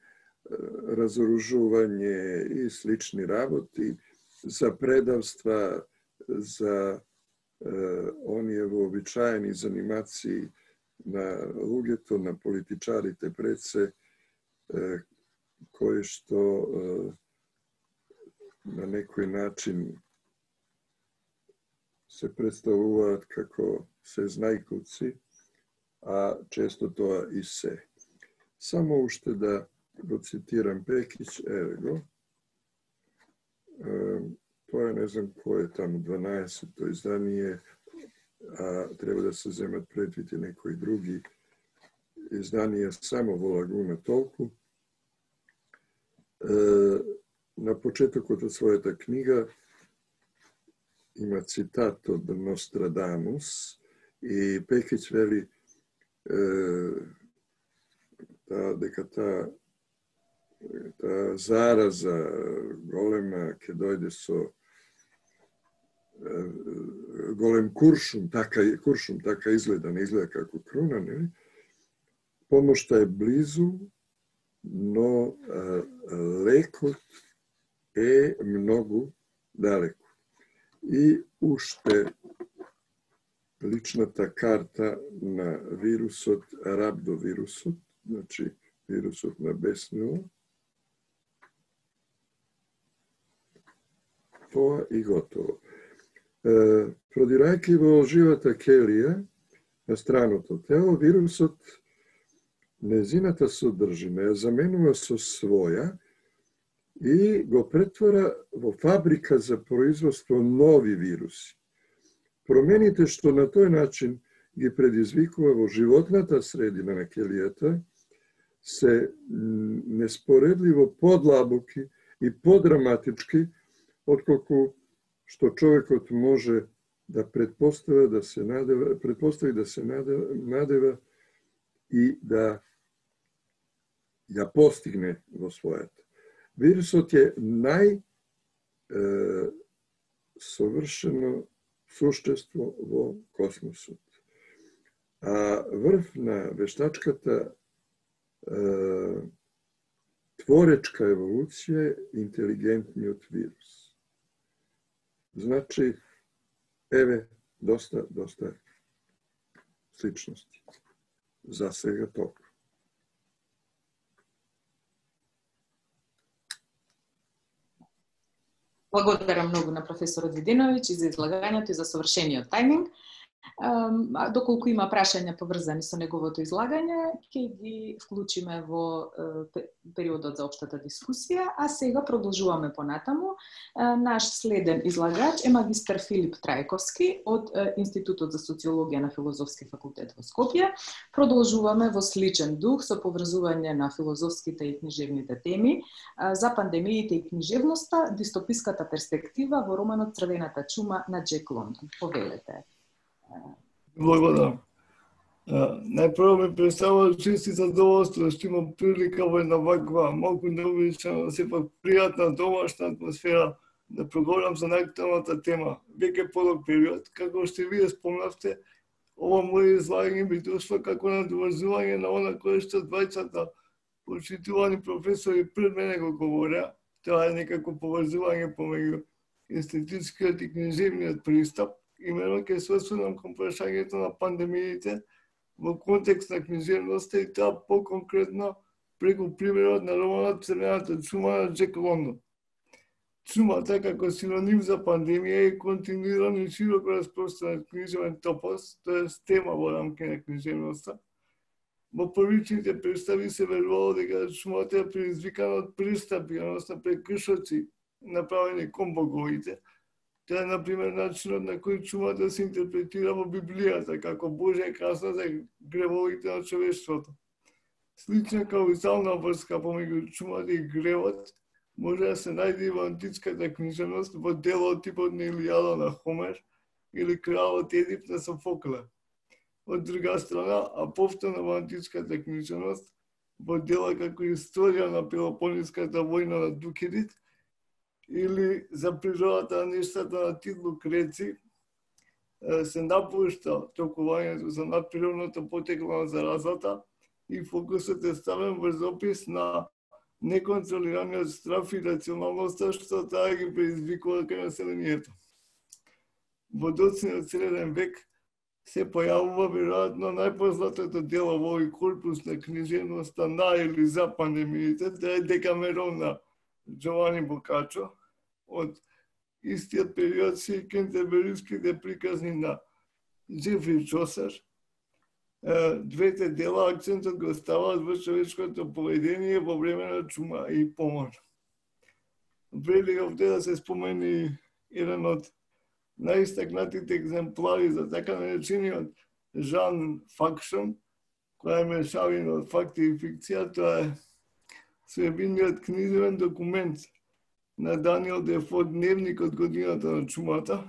разоружување и слични работи, за предавства, за оние вообичаени занимации на луѓето, на политичарите пред се, кои што на некој начин се представуваат како се знајковци, а често тоа и се. Само уште да го цитирам Пекиќ, еве го. Тоа е, не знам кој е таму, дванаесетто издание, а треба да се земат предвид и некои други изданија само во Лагуна толку. На почетокот од својата книга има цитат од Нострадамус и Пекиќ вели та, дека таа та зараза голема ќе дојде со голем куршум, така, куршум така изгледа, не изгледа како круна, нели? Помошта е близу, но а, лекот е многу далеку. И уште личната карта на вирусот, рабдовирусот, значи вирусот на беснило, тоа и готово. Продирајќи во живата келија, на страното тело, вирусот незината содржина ја заменува со своја и го претвора во фабрика за производство нови вируси. Промените што на тој начин ги предизвикува во животната средина на келијата се неспоредливо подлабоки и подраматички отколку што човекот може да предпостави да се надева, предпостави да се надева, надева и да ја постигне во својата. Вирусот е нај е, совршено суштество во космосот. А врв на вештачката е, творечка еволуција е интелигентниот вирус. Значи, еве, доста, доста сличности. За сега толку. Благодарам многу на професорот Видиновиќ и за излагањето и за совршениот тајминг. Доколку има прашања поврзани со неговото излагање, ќе ги вклучиме во периодот за општата дискусија, а сега продолжуваме понатаму. Наш следен излагач е магистар Филип Трајковски од Институтот за социологија на Филозофски факултет во Скопје. Продолжуваме во сличен дух со поврзување на филозофските и книжевните теми за пандемиите и книжевноста, дистописката перспектива во романот Црвената чума на Џек Лондон. Повелете. Благодарам. Најпрво ми представува чест и задоволство што имам прилика во една ваква малку необичаена, сепак пријатна домашна атмосфера да проговорам за најактуелната тема. Веќе подолг период, како што вие спомнавте, ова моје излагање би дошло како надоврзување на она кое што двајцата почитувани професори пред мене го говореа. Тоа е некако поврзување помеѓу естетичкиот и книжевниот пристап. Имено ќе се осврнам кон прашањето на пандемиите во контекст на книжевноста и тоа по-конкретно преку примерот на романот Црвената чума на Џек Лондон. Чумата како синоним за пандемија е континуиран и широко распространет книжевен топос, тоа е тема во рамки на книжевноста. Во првичните представи се верувало дека чумата е предизвикана од пристапи, односно прекршоци направени кон боговите. Тоа е, например, начинот на кој чумата се интерпретира во Библијата како Божја казна за гревовите на човештвото. Слична каузална врска помеѓу чумата и гревот може да се најде и во античката книжевност во делот типот на Илијада на Хомер или Кралот Едип на Софокле. Од друга страна, а повторно во античката книжевност во дела како Историја на Пелопонеската војна на Дукидит или за природата на нештата на Тит Лукреци, се напушта толкувањето за надприродното потекло на заразата и фокусот е ставен врз опис на неконтролираниот страф и рационалноста што таа ги предизвикува кај населението. Во доцниот среден век се појавува веројатно најпознатото дело во овој корпус на книжевноста на или за пандемиите, да е Декамерон на Джовани Бокачо. Од истиот период се и кентербериските приказни на Джефри Чосер. Двете дела акцентот го ставаат во човечкото поведение во време на чума и помор. Вреди овде да се спомени еден од најистакнатите екземплари за така наречениот Жан Факшн, која е мешавина од факти и фикција. Тоа е своевидниот книжевен документ на Даниел Дефо, Дневник од годината на чумата.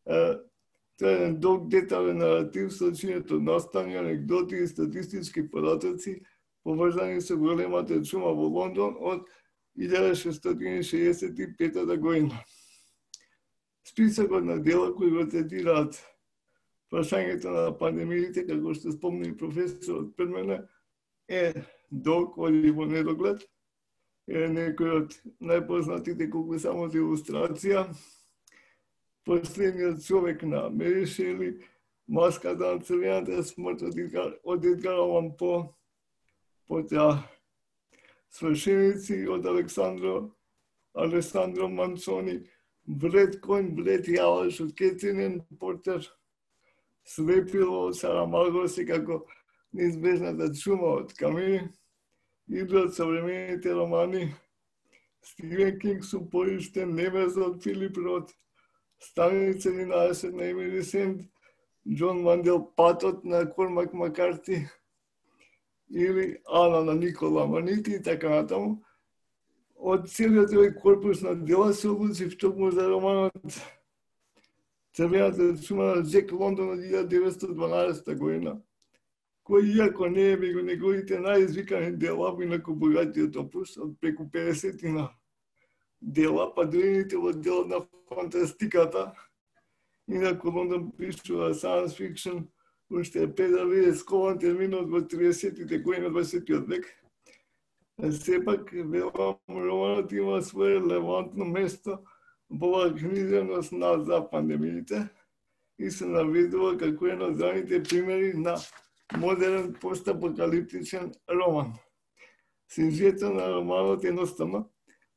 Тоа е еден долг детален наратив со чинето настани, анекдоти и статистички податоци поврзани со големата чума во Лондон од илјада шестстотини шеесет и пета година. Списокот на дела кои го третираат прашањето на пандемиите, како што спомни професорот пред мене, е долг, оди во недоглед. Е некој од најпознатите колку само за илустрација. Последниот човек на Мери Шели, Маската на црвената смрт од Едгар Алан По, потоа Свршеници од Александро Алесандро Манцони, Блед конј, блед јалаш од Кетрин Портер, Слепило од Сарамаго, секако неизбежната чума од Камини, или од современите романи, Стивен Кинг со поиштен, Немез од Филип Рот, Станица единаесет на Емили Сент, Џон Мандел Патот на Кормак Макарти, или Ана на Никола Манити и така натаму. Од целиот овој корпус на дела се одлучив токму за романот Црвената чума на Џек Лондон од илјада деветстотини и дванаесета година, кој иако не е меѓу неговите најизвикани дела, инаку богатиот опус од преку педесетина дела, па дојдените во делот на фантастиката, инаку Лондон пишува science fiction, уште е педали скован терминот во триесеттите години од дваесеттиот век. Сепак, велам, романот има свое релевантно место во оваа книжевност на за пандемиите и се наведува како еден од ранните примери на модерен постапокалиптичен роман. Сюжетот на романот едноставно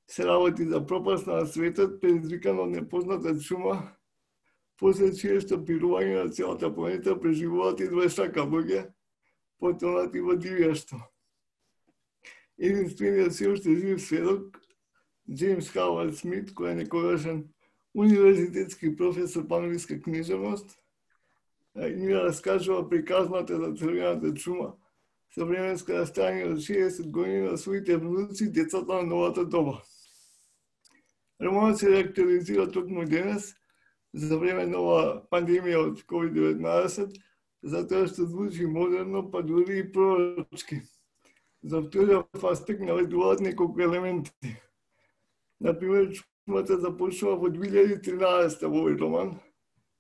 се работи за пропаст на светот, предизвикан од непозната чума, после чие што пирување на целата планета преживуваат и дваесет луѓе, потонати во дивјаштво. Единствениот се уште жив сведок, Джеймс Хауард Смит, кој е некогашен универзитетски професор по англиска книжевност, и ни раскажува приказната за црвената чума со временско растојање од шеесет години на своите внуци, децата на новата доба. Романот се реактуализира токму денес, за време на оваа пандемија од ковид деветнаесет, затоа што звучи модерно, па дури и пророчки. За вториот аспект наведуваат неколку елементи. Например, чумата започнува во две илјади и тринаесета во овој роман,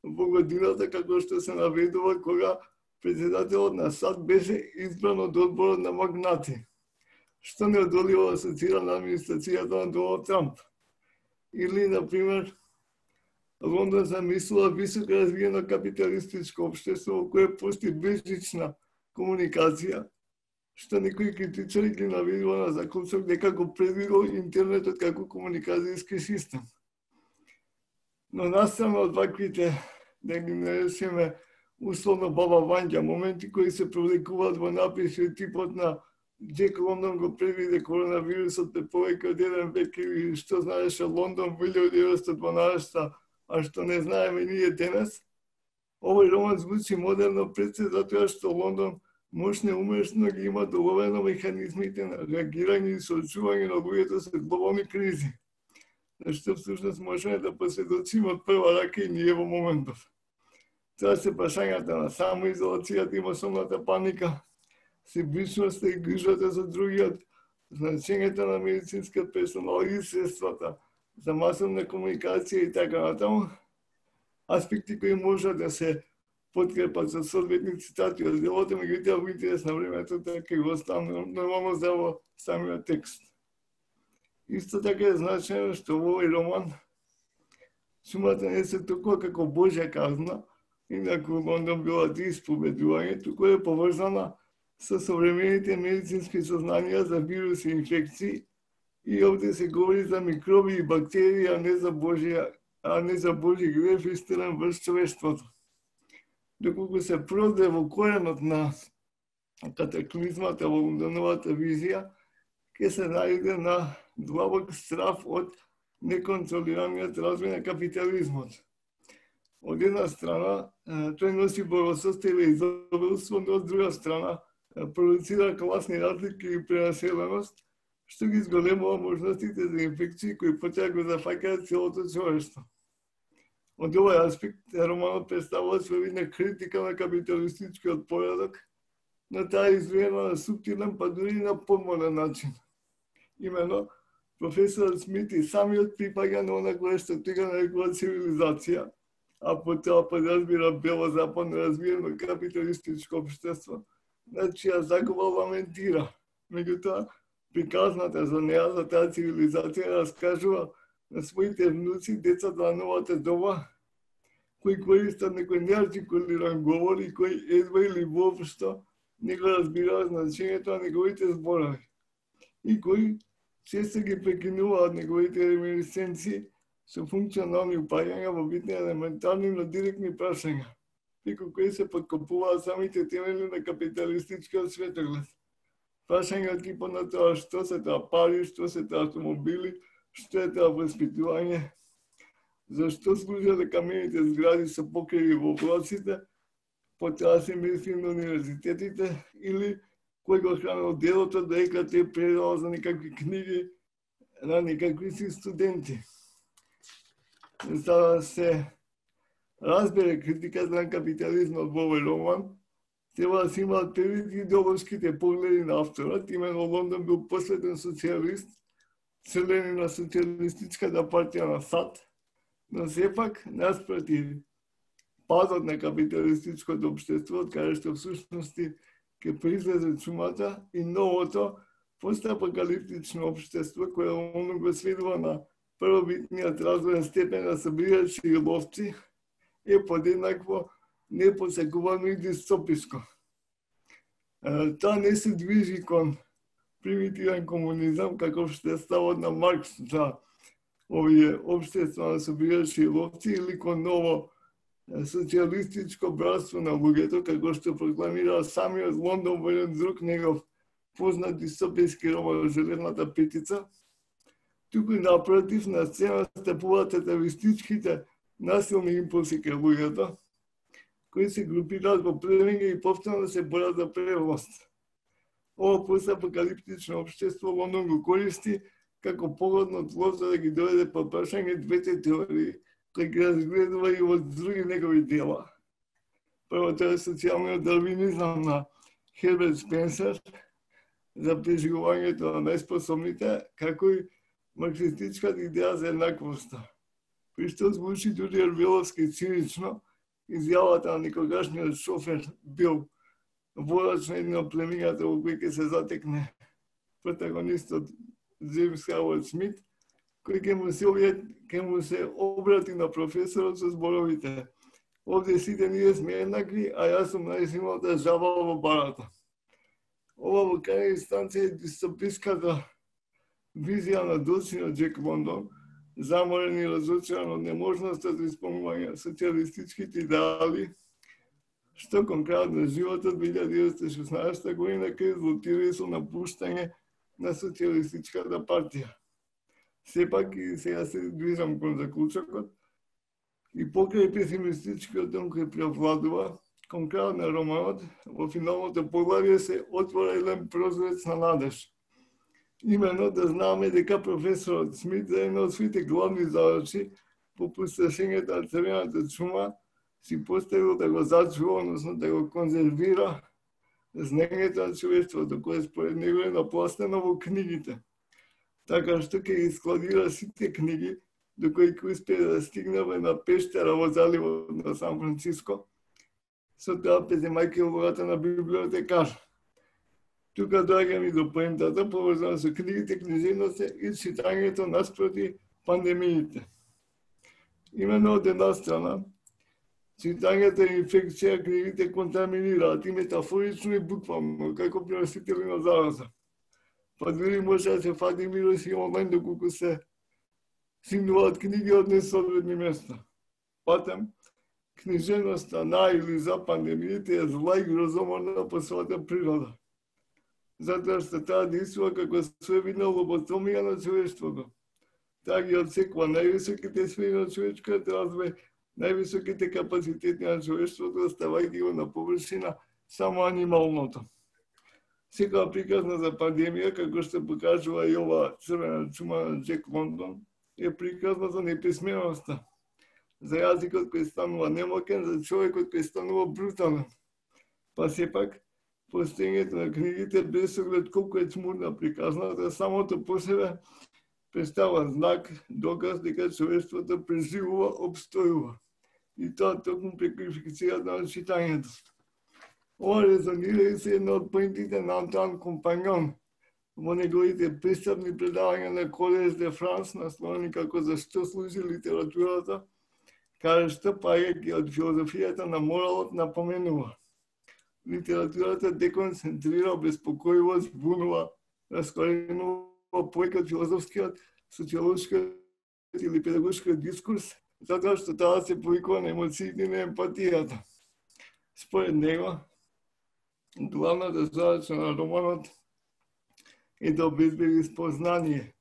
во годината како што се наведува кога председателот на САД беше избран од одборот на магнати, што неодоливо асоцира на администрацијата на Доналд Трамп. Или, например, Лондон замислува високо развиено капиталистичко општество во кое постои безжична комуникација, што некои критичари ги наведува на заклучок дека го предвидел интернетот како комуникацијски систем. Но настрана од ваквите, да ги наречеме условно баба Вања, моменти кои се провлекуваат во написи типот на Џек Лондон го предвиде коронавирусот пред повеќе од еден век или што знаеше Лондон во илјада деветстотини и дванаесета, а што не знаеме ние денес. Овој роман звучи модерно пред се затоа што Лондон мощно умешно ги има доловено механизмите на реагирање и соочување на луѓето со глобални кризи, што всушност можеме да посведочиме од прва рака и ние во моментов. Тоа се прашањата на самоизолацијата и масовната паника, себичноста и грижата за другиот, значењето на медицинскиот персонал и средствата за масовна комуникација и така натаму. аспекти кои може да се подкрепат со соодветни цитати од делото, меѓутоа во интерес на времето така го оставам нормално за во самиот текст. Исто така е значено што во овој роман сумата не се толку како Божја казна, инаку Лондон била ти исповедување, туку е поврзана со современите медицински сознанија за вируси и инфекции, и овде се говори за микроби и бактерии, а не за Божја, а не за Божји грев истинен врз човештвото. Доколку се проде во коренот на катаклизмата во Лондоновата визија, ќе се најде на длабок страв од неконтролираниот развој на капитализмот. Од една страна, тој носи благосостојбе и изобилство, но од друга страна, продуцира класни разлики и пренаселеност, што ги зголемува можностите за инфекции кои потоа го зафаќаат целото човештво. Од овој аспект, романот представува своевидна критика на капиталистичкиот поредок, но таа е изведена на суптилен, па дури на подмоден начин. Имено, професорот Смит и самиот припаѓа на она кое што тој го нарекува цивилизација, а потоа подразбира бело-западно развиено капиталистичко општество, на чија загуба ламентира. Меѓутоа, приказната за неа, за таа цивилизација, раскажува на своите внуци, децата на новата доба, кои користат некој неартикулиран говор и кои едва или воопшто не го разбираат значењето на неговите зборови и кои често ги прекинуваат неговите реминисценции со функционални упаѓања во битни елементарни, но директни прашања, преку кои се подкопуваат самите темели на капиталистичкиот светоглед. Прашања од типот на тоа што се тоа пари, што се тоа автомобили, што е тоа воспитување, зашто служат камените згради со покриви во облаците, потоа се мисли на универзитетите, или кој го хранил делото дека те предава за некакви книги на некакви си студенти. За да се разбере критиката на капитализмот во овој роман, треба да се имаат предвид идеолошките погледи на авторот. Имено Лондон бил последен социјалист, член на социјалистичката партија на САД, но сепак, наспротив падот на капиталистичкото општество, од каде што всушности ќе произлезе чумата и новото постапокалиптично општество, кое оно го сведува на првобитниот развоен степен на собирачи и ловци, е подеднакво непосекувано и дистописко. Тоа не се движи кон примитивен комунизам, каков што е ставот на Маркс за овие општества на собирачи и ловци, или кон ново социјалистичко братство на луѓето, како што прокламира самиот Лондон во еден друг негов познат дистопијски роман Железната петица. Туку напротив, на сцена стапуваат атавистичките насилни импулси кај луѓето, кои се групираат во племиња и повторно се борат за превласт. Ова постапокалиптично општество Лондон го користи како погодно тло за да ги доведе по прашање двете теории, кои ги разгледува и во други негови дела. Првото е социјалниот дарвинизам на Херберт Спенсер за преживувањето на најспособните, како и марксистичката идеја за еднаквоста. При што звучи дури орвеловски цинично, изјавата на некогашниот шофер бил водач на едно од племињата во кој ќе се затекне протагонистот Джеймс Хауард Смит, кој ќе му се ќе му се обрати на професорот со зборовите: овде сите ние сме еднакви, а јас сум најсилната жаба во барата. Ова во крај инстанција е дистописката визија на доцниот Джек Лондон, заморен и разочаран од неможноста за исполнување социјалистичките идеали, што кон крајот на животот две илјади деветстотини и шеснаесетта година ќе резултира со напуштање на социјалистичката партија. Сепак и сега се движам кон заклучокот и покрај песимистичкиот тон кој преовладува, кон крајот на романот, во финалното поглавје се отвора еден прозорец на надеж. Имено да знаме дека професорот Смит за една од своите главни задачи по пустошењето на црвената чума си поставил да го зачува, односно да го конзервира знаењето на човештвото, кое според него е напластено во книгите. Така што ќе ги складира сите книги до кој ќе успее да стигнеме на пештера во заливот на Сан Франциско. Со тоа преземајќи улогата на библиотекар. Тука доаѓам и до поентата поврзана со книгите, книжевноста и читањето наспроти пандемиите. Именно од една страна, читањето е инфекција, книгите контаминираат и метафорично и буквално, како преносители на зараза. Па дури може да се фати вируси онлайн доколку се сигнуваат книги од несоодветни места. Патем, книжевноста на или за пандемиите е зла и грозоморна по својата природа. Затоа што таа действува како своевидна лоботомија на човештвото. Таа ги отсекува највисоките сфери на човечкиот развој, највисоките капацитети на човештвото, оставајќи го на површина само анималното. Секоја приказна за пандемија, како што покажува и ова црвена чума на Джек Лондон, е приказна за неписменоста, за јазикот кој станува немокен, за човекот кој станува брутален. Па сепак, постоењето на книгите без оглед колку е чмурна приказната, самото по себе представува знак, доказ дека човештвото преживува, обстојува. И тоа токму преку инфекцијата на читањето. Ова резонира и се една од поентите на Антуан Компаньон во неговите пристапни предавања на Колеж де Франс, насловени како "Зашто служи литературата", каде што паѓајќи од филозофијата на моралот напоменува: литературата деконцентрира, обезпокојува, збунува, раскоренува појка од филозофскиот, социолошкиот или педагошкиот дискурс, затоа што таа се повикува на емоциите и на емпатијата. Според него, главната задача на романот е да обезбеди спознание,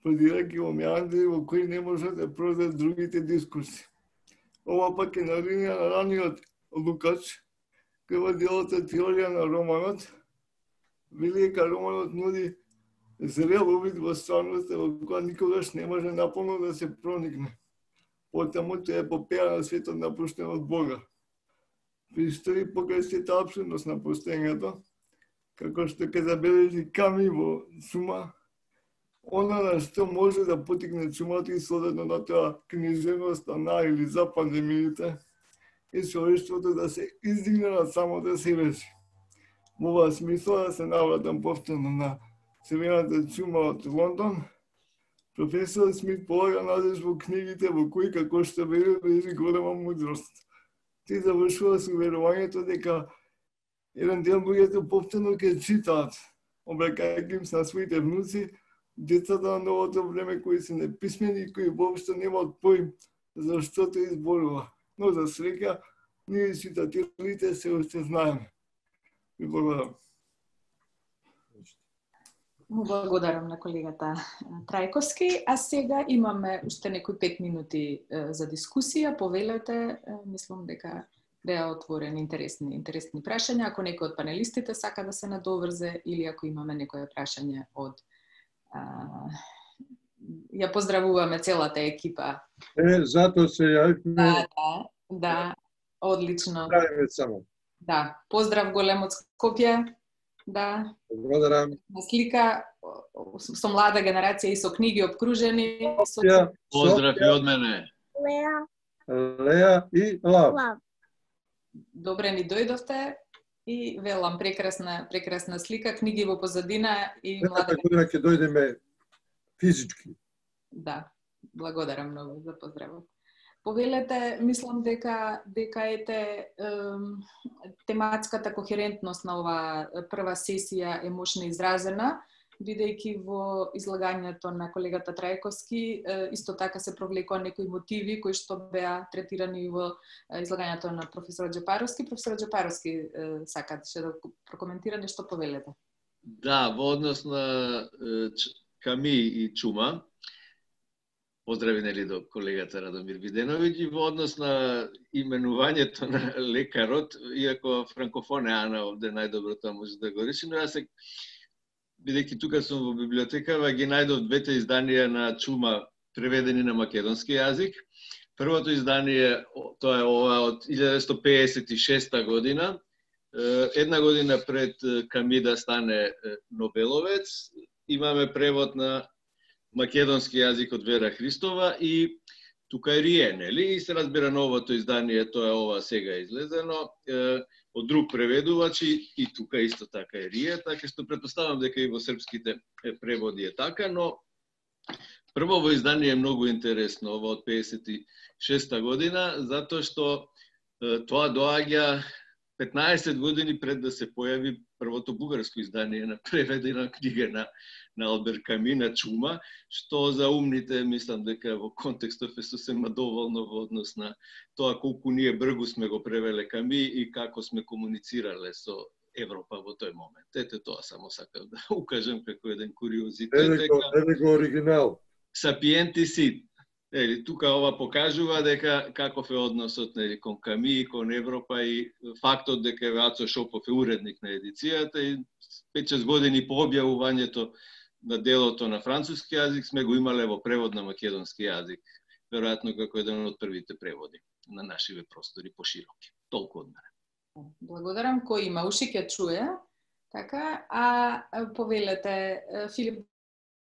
продирајќи во меандри во кои не можат да прозат другите дискурси. Ова пак е на линија на раниот Лукач, кој во делото теорија на романот вели дека романот нуди зрел увид во стварноста во која никогаш не може наполно да се проникне. Потаму тоа е епопеја на светот напуштен од Бога. Пристори покрај сета апсурдност на постоењето, како што ќе забележи Ками во Чума, она на што може да потикне чумата и содетно на тоа книжевноста на или за пандемиите, е човештвото да се издигне над самото себе си. Во оваа смисла да се навратам повторно на црвената чума од Лондон, професор Смит полага надеж во книгите во кои, како што вели, лежи голема мудрост. Ти завршува со верувањето дека еден ден луѓето повторно ќе читаат, обрекајќи им се на своите внуци, децата на новото време кои се неписмени и кои воопшто немаат поим за што тоа изборува. Но за среќа, ние читателите се уште знаеме. Ви благодарам. Му благодарам на колегата Трајковски, а сега имаме уште некои пет минути за дискусија. Повелете, мислам дека беа отворени интересни интересни прашања. Ако некој од панелистите сака да се надоврзе или ако имаме некое прашање од а, ја поздравуваме целата екипа. Е, затоа се јавивме. Да, да, да, одлично. Правиме само. Да, поздрав голем од Скопје. Да. Благодарам. На слика со млада генерација и со книги обкружени. Со... Поздрав и од мене. Леа. Леа и Лав. Лав. Добре ни дојдовте и велам прекрасна прекрасна слика, книги во позадина и млада. Следната година ќе дојдеме физички. Да, благодарам многу за поздравот. Повелете, мислам дека дека ете тематската кохерентност на оваа прва сесија е мощно изразена, бидејќи во излагањето на колегата Трајковски исто така се провлекоа некои мотиви кои што беа третирани во излагањето на професор Џапаровски. Професор Џапаровски сакате да прокоментира нешто, повелете. Да, во однос на Ками и Чума, поздрави нели до колегата Радомир Виденовиќ, и во однос на именувањето на лекарот, иако франкофон е Ана овде најдобро тоа може да го реши, но јас се, бидејќи тука сум во библиотекава, ги најдов двете изданија на Чума преведени на македонски јазик. Првото издание, тоа е ова од илјада деветстотини пеесет и шеста година, една година пред Ками да стане Нобеловец. Имаме превод на македонски јазик од Вера Христова и тука е Рие, нели? И се разбира новото издание, тоа е ова сега излезено, е, од друг преведувач и, и тука исто така е Рие, така што претпоставам дека и во српските преводи е така, но прво во издание е многу интересно, ова од педесет и шеста година, затоа што е, тоа доаѓа петнаесет години пред да се појави првото бугарско издание на преведена книга на, на Албер Ками, на Чума, што за умните, мислам дека во контекстов е сосема доволно во однос на тоа колку ние бргу сме го превеле Ками и како сме комуницирале со Европа во тој момент. Ете тоа само сакав да укажам како еден куриозитет. Еве го, еве го оригинал. Сапиенти сит. Ели, тука ова покажува дека каков е односот нели, кон Ками и кон Европа и фактот дека Вацо Шопов е уредник на едицијата и пет-шест години по објавувањето на делото на француски јазик сме го имале во превод на македонски јазик. Веројатно како еден од првите преводи на нашиве простори пошироки. Толку од мене. Благодарам. Кој има уши ќе чуе. Така, а повелете, Филип,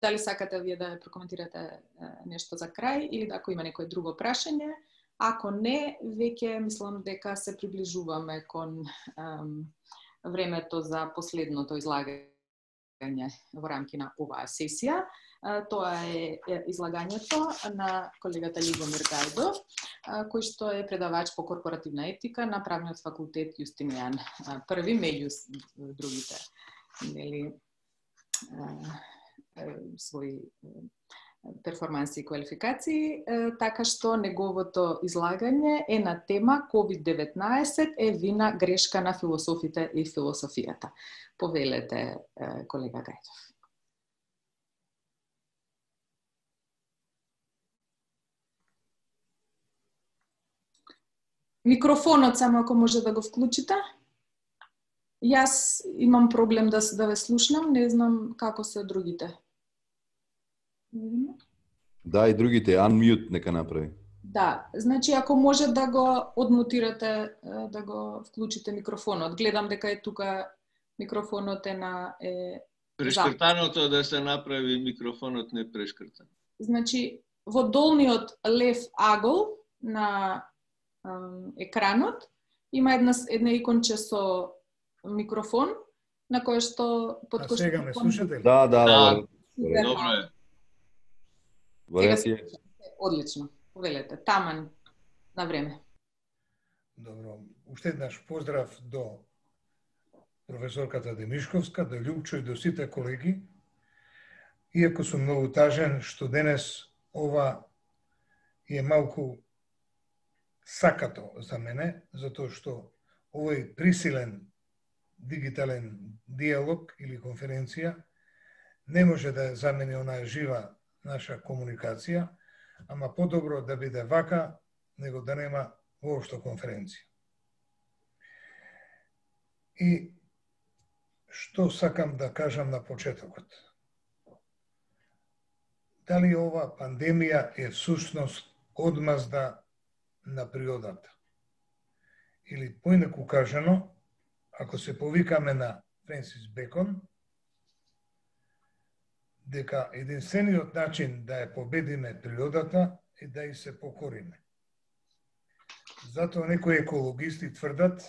дали сакате вие да прокоментирате нешто за крај или ако има некој друго прашање? Ако не, веќе мислам дека се приближуваме кон ем, времето за последното излагање во рамки на оваа сесија. Тоа е излагањето на колегата Љубомир Гајдов, кој што е предавач по корпоративна етика на Правниот факултет Јустинијан Први, меѓу другите, нели, своји перформанси и квалификации, така што неговото излагање е на тема ковид деветнаесет е вина, грешка на философите и философијата. Повелете, колега Гајдов. Микрофонот само ако може да го вклучите. Јас имам проблем да, да ве слушнам, не знам како се другите. Да, и другите, unmute нека направи. Да, значи ако може да го одмутирате, да го вклучите микрофонот. Гледам дека е тука микрофонот е на е Прешкртаното да се направи, микрофонот не прешкртан. Значи во долниот лев агол на ем, екранот има една една иконче со микрофон на кој што под кој што... А сега ме слушате ли? Да, да, да. да. Добро е. Варијатија. Одлично. Повелете, таман на време. Добро. Уште еднаш поздрав до професорката Демишковска, до Љупчо и до сите колеги. Иако сум многу тажен што денес ова е малку сакато за мене, затоа што овој присилен дигитален диалог или конференција не може да замени онаа жива наша комуникација, ама подобро да биде вака, него да нема воопшто конференција. И што сакам да кажам на почетокот? Дали ова пандемија е всушност одмазда на природата? Или поинаку кажано, ако се повикаме на Френсис Бекон, дека единствениот начин да ја победиме природата е да и се покориме. Затоа некои екологисти тврдат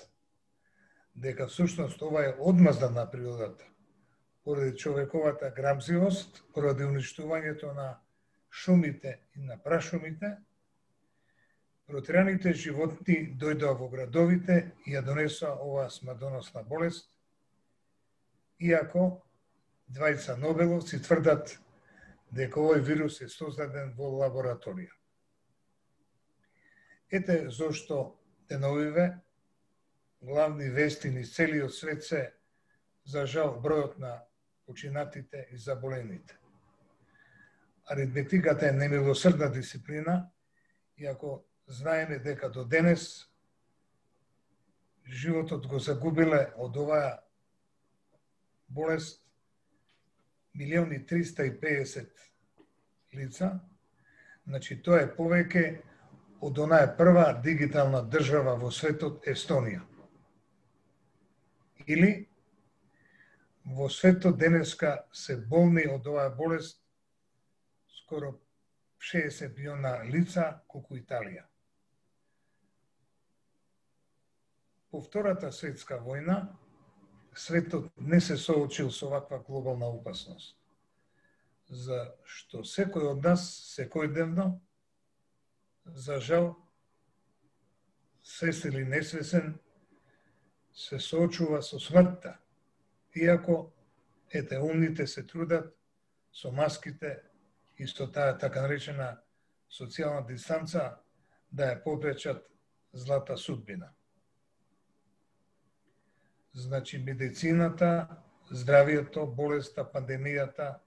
дека всушност ова е одмазда на природата, поради човековата грамзивост, поради уништувањето на шумите и на прашумите. Протераните животни дојдоа во градовите и ја донесоа оваа смртоносна болест, иако двајца нобеловци тврдат дека овој вирус е создаден во лабораторија. Ете зошто деновиве главни вести низ целиот свет се, за жал, бројот на починатите и заболените. Аритметиката е немилосрдна дисциплина, иако знаеме дека до денес животот го загубиле од оваа болест милиони триста и педесет лица, значи тоа е повеќе од онаа прва дигитална држава во светот Естонија. Или во светот денеска се болни од оваа болест скоро шеесет милиона лица колку Италија. По Втората светска војна, светот не се соочил со ваква глобална опасност, за што секој од нас секојдневно, за жал, свесен или несвесен, се соочува со смртта, иако, ете, умните се трудат со маските и со таа така наречена социјална дистанца да ја попречат злата судбина. Значи, медицината, здравието, болеста, пандемијата,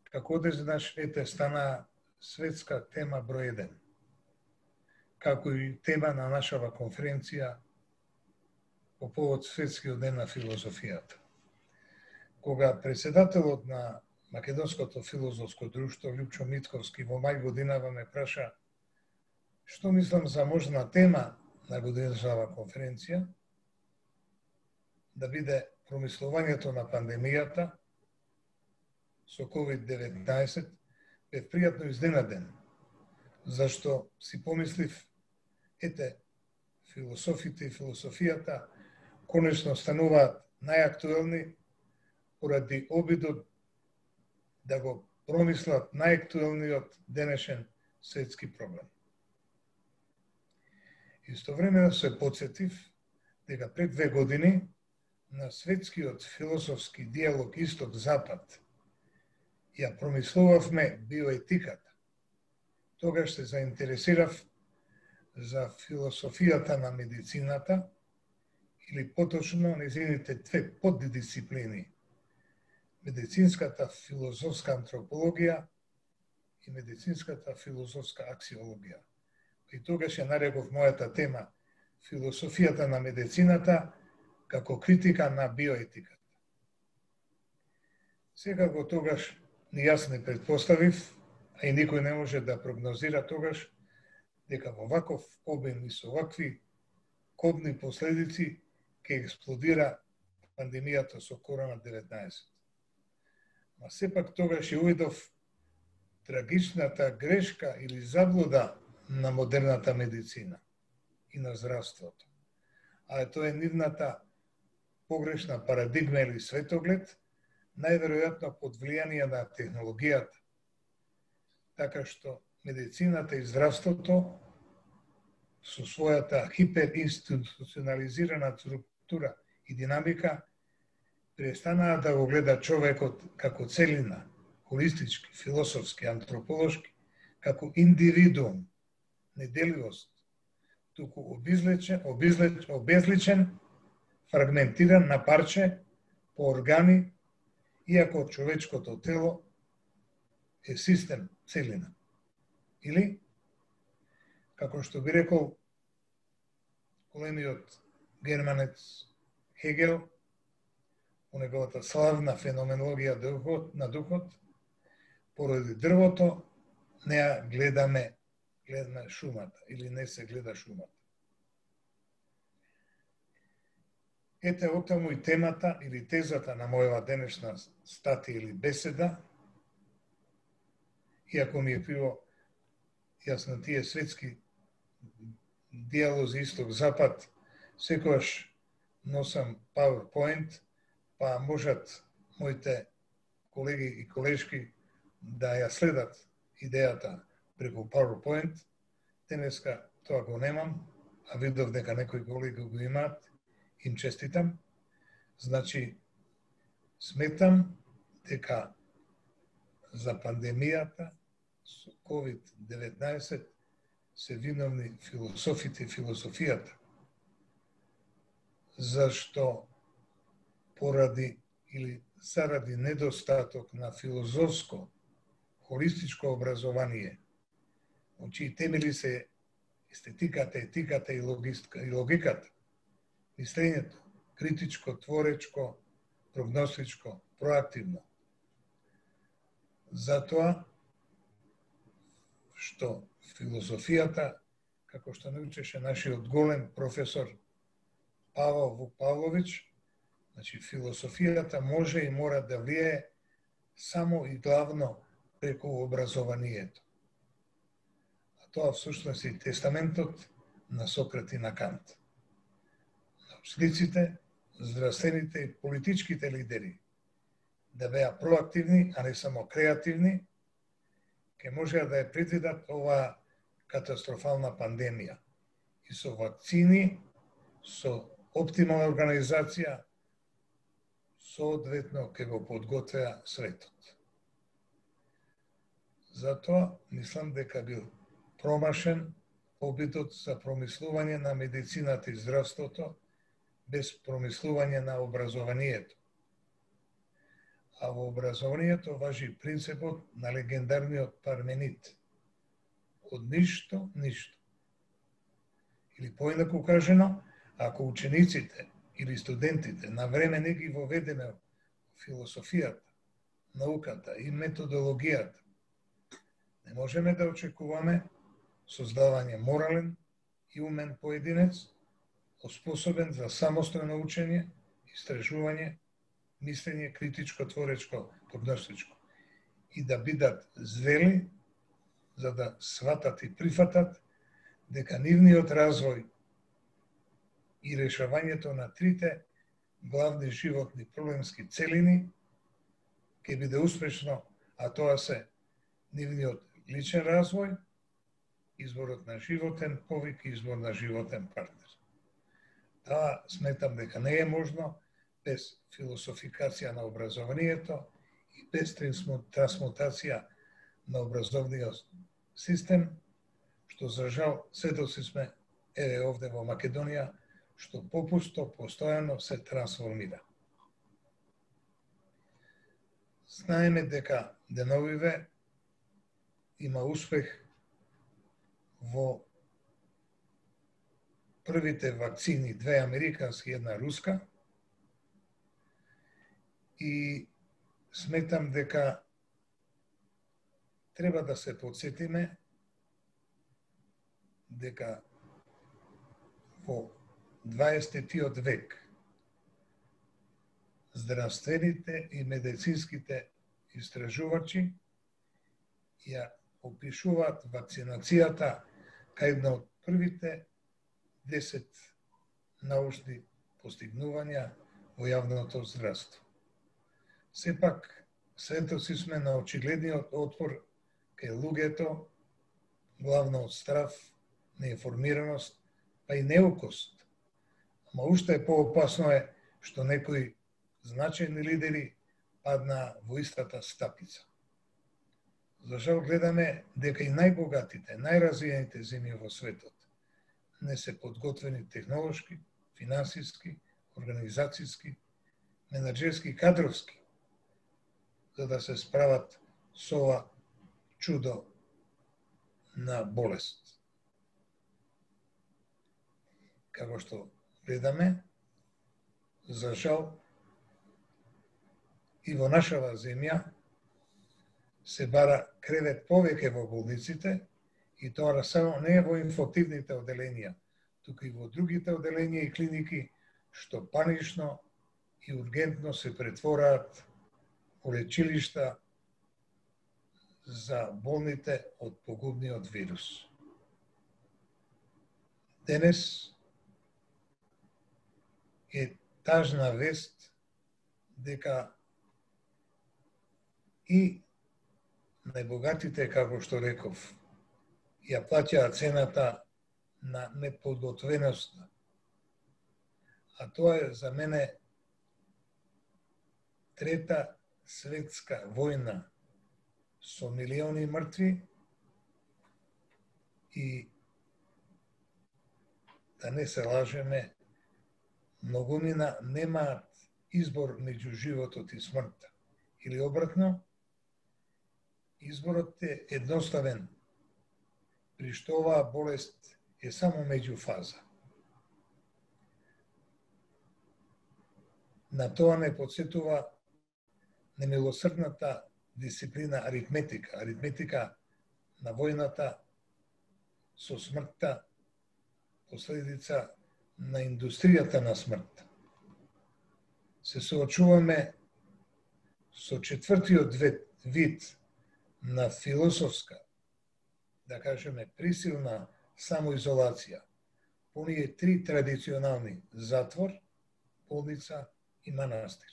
како одеднаш, ете, стана светска тема број еден, како и тема на нашава конференција по повод Светскиот ден на филозофијата. Кога председателот на Македонското филозофско друштво Лјупчо Митковски во мај годинава ме праша што мислам за можна тема на годинешната конференција, да биде промислувањето на пандемијата со ковид деветнаесет, бев пријатно изненаден, зашто си помислив, ете, философите и философијата конечно стануваат најактуелни поради обидот да го промислат најактуелниот денешен светски проблем. Истовремено се потсетив дека пред две години на светскиот философски диалог Исток-Запад ја промислувавме биоетиката. Тогаш се заинтересирав за философијата на медицината или поточно незините две поддисциплини: медицинската филозофска антропологија и медицинската филозофска аксиологија. И тогаш ја нареков мојата тема философијата на медицината како критика на биоетиката. Секако тогаш ни јас не предпоставив, а и никој не може да прогнозира тогаш, дека во ваков обем и со вакви кобни последици ќе експлодира пандемијата со корона деветнаесет. Ма сепак тогаш ја увидов трагичната грешка или заблуда на модерната медицина и на здравството. А тоа е нивната погрешна парадигма или светоглед, најверојатно под влијание на технологијата. Така што медицината и здравството со својата хиперинституционализирана структура и динамика престанаа да го гледа човекот како целина, холистички, философски, антрополошки, како индивидуум, неделивост, туку обезличен, обезличен, обезличен, фрагментиран на парче по органи, иако човечкото тело е систем, целина. Или, како што би рекол големиот германец Хегел, у неговата славна феноменологија духот, на духот, поради дрвото не ја гледаме, гледаме шумата, или не се гледа шумата. Ете оттаму и темата или тезата на мојава денешна статија или беседа, иако ми е криво, јас на тие светски диалози Исток-Запад, секогаш носам PowerPoint, па можат моите колеги и колешки да ја следат идејата преку PowerPoint. Денеска тоа го немам, а видов дека некои колеги го имаат, им честитам. Значи, сметам дека за пандемијата со ковид деветнаесет се виновни философите и философијата, зашто поради или заради недостаток на филозофско, холистичко образование, во чии темели се естетиката, етиката и, логистика, и логиката, мислењето, критичко, творечко, прогностичко, проактивно. Затоа што философијата, како што научеше нашиот голем професор Павел Вук Павлович, значи философијата може и мора да влијае само и главно преку образованието. А тоа всушност е тестаментот на Сократ и на Кант. Научниците, здравствените и политичките лидери да беа проактивни, а не само креативни, ке можеа да ја предвидат оваа катастрофална пандемија. И со вакцини, со оптимална организација, соодветно ке го подготвеа светот. Затоа мислам дека бил промашен обидот за промислување на медицината и здравството без промислување на образованието. А во образованието важи принципот на легендарниот Парменид. Од ништо, ништо. Или поинаку кажено, ако учениците или студентите на време не ги воведеме философијата, науката и методологијата, не можеме да очекуваме создавање морален и умен поединец, оспособен за самостојно учење, истражување, мислење критичко, творечко, прогностичко и да бидат зрели за да сватат и прифатат дека нивниот развој и решавањето на трите главни животни проблемски целини ќе биде успешно, а тоа се нивниот личен развој, изборот на животен повик и избор на животен партнер. Таа сметам дека не е можно без философикација на образованието и без трансмутација на образовниот систем, што за жал сведоци сме еве овде во Македонија, што попусто постојано се трансформира. Знаеме дека деновиве има успех во првите вакцини, две американски и една руска, и сметам дека треба да се подсетиме дека во дваесеттиот век здравствените и медицинските истражувачи ја опишуваат вакцинацијата кај една од првите десет научни постигнувања во јавното здравство. Сепак, сведоци сме на очигледниот отпор кај луѓето, главно од страв, неинформираност, па и неукост. Ама уште поопасно е што некои значајни лидери паднаа во истата стапица. За жал гледаме дека и најбогатите, најразвиените земји во светот не се подготвени технолошки, финансиски, организацијски, менаџерски, кадровски, за да се справат со ова чудо на болест. Како што гледаме, за жал, и во нашава земја се бара кревет повеќе во болниците, и тоа само не е во инфективните оделенија, туку и во другите оделенија и клиники, што панично и ургентно се претвораат во лечилишта за болните од погубниот вирус. Денес е тажна вест дека и најбогатите, како што реков, ја плаќаат цената на неподготвеноста. А тоа е за мене трета светска војна со милиони мртви и, да не се лажеме, многумина немаат избор меѓу животот и смртта. Или обратно, изборот е едноставен, при што оваа болест е само меѓуфаза. На тоа не подсетува немилосрдната дисциплина аритметика, аритметика на војната со смртта, последица на индустријата на смртта. Се соочуваме со четвртиот вид на философска, да кажеме, присилна самоизолација, по оние три традиционални затвор, болница и манастир.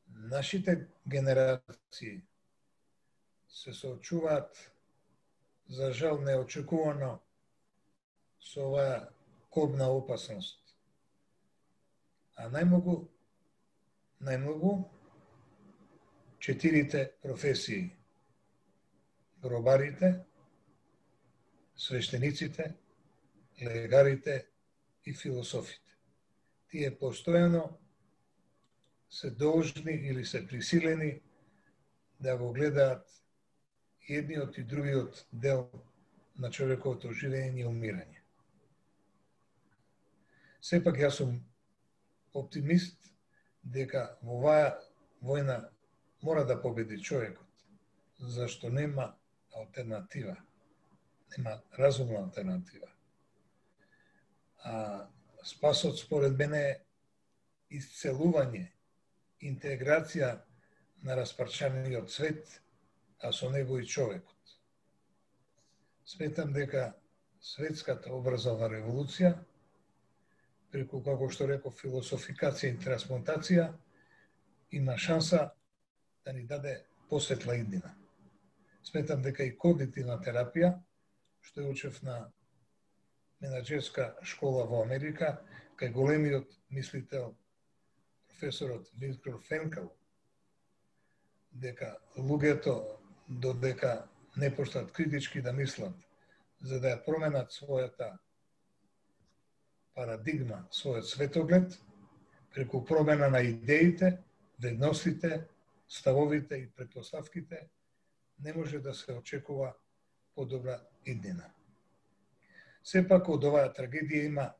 Нашите генерации се соочуваат, за жал неочекувано, со оваа кобна опасност. А најмногу, најмногу, четирите професии: гробарите, свештениците, легарите и философите. Тие постојано се должни или се присилени да го гледаат едниот и другиот дел на човековото живење и умирање. Сепак јас сум оптимист дека во оваа војна мора да победи човекот, зашто нема алтернатива, нема разумна алтернатива. А спасот според мене е исцелување, интеграција на распарчаниот свет, а со него и човекот. Сметам дека светската образовна револуција, преку, како што реков, философикација и трансмутација, има шанса да ни даде посветла иднина. Сметам дека и когнитивна терапија, што е учев на менаџерска школа во Америка, кај големиот мислител, професорот Виктор Франкл, дека луѓето додека не почнат критички да мислат, за да ја променат својата парадигма, својот светоглед, преку промена на идеите, вредностите, ставовите и претпоставките, не може да се очекува подобра иднина. Сепак од оваа трагедија има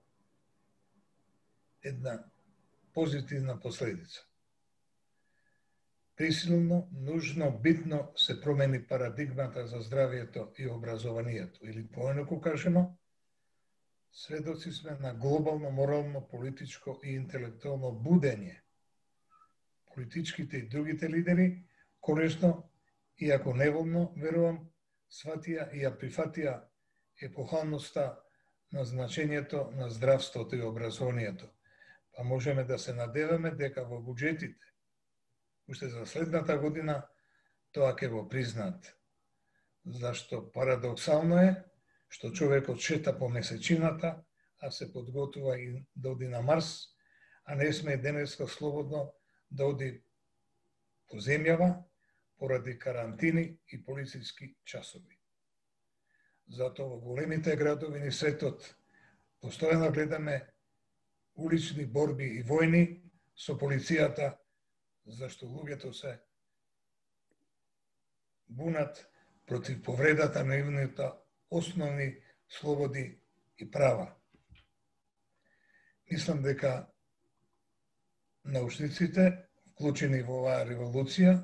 една позитивна последица. Присилно, нужно, битно се промени парадигмата за здравието и образованието. Или поинаку кажено, сведоци сме на глобално, морално, политичко и интелектуално будење. Политичките и другите лидери, конечно, иако неволно, верувам, сватија и ја прифатија епохалноста на значењето на здравството и образованието. Па можеме да се надеваме дека во буџетите, уште за следната година, тоа ќе го признат. Зашто парадоксално е што човекот шета по месечината, а се подготува и да оди на Марс, а не сме денеска слободно да оди по земјава поради карантини и полициски часови. Затоа во големите градови ни светот постојано гледаме улични борби и војни со полицијата, зашто луѓето се бунат против повредата на нивните основни слободи и права. Мислам дека научниците, вклучени во оваа револуција,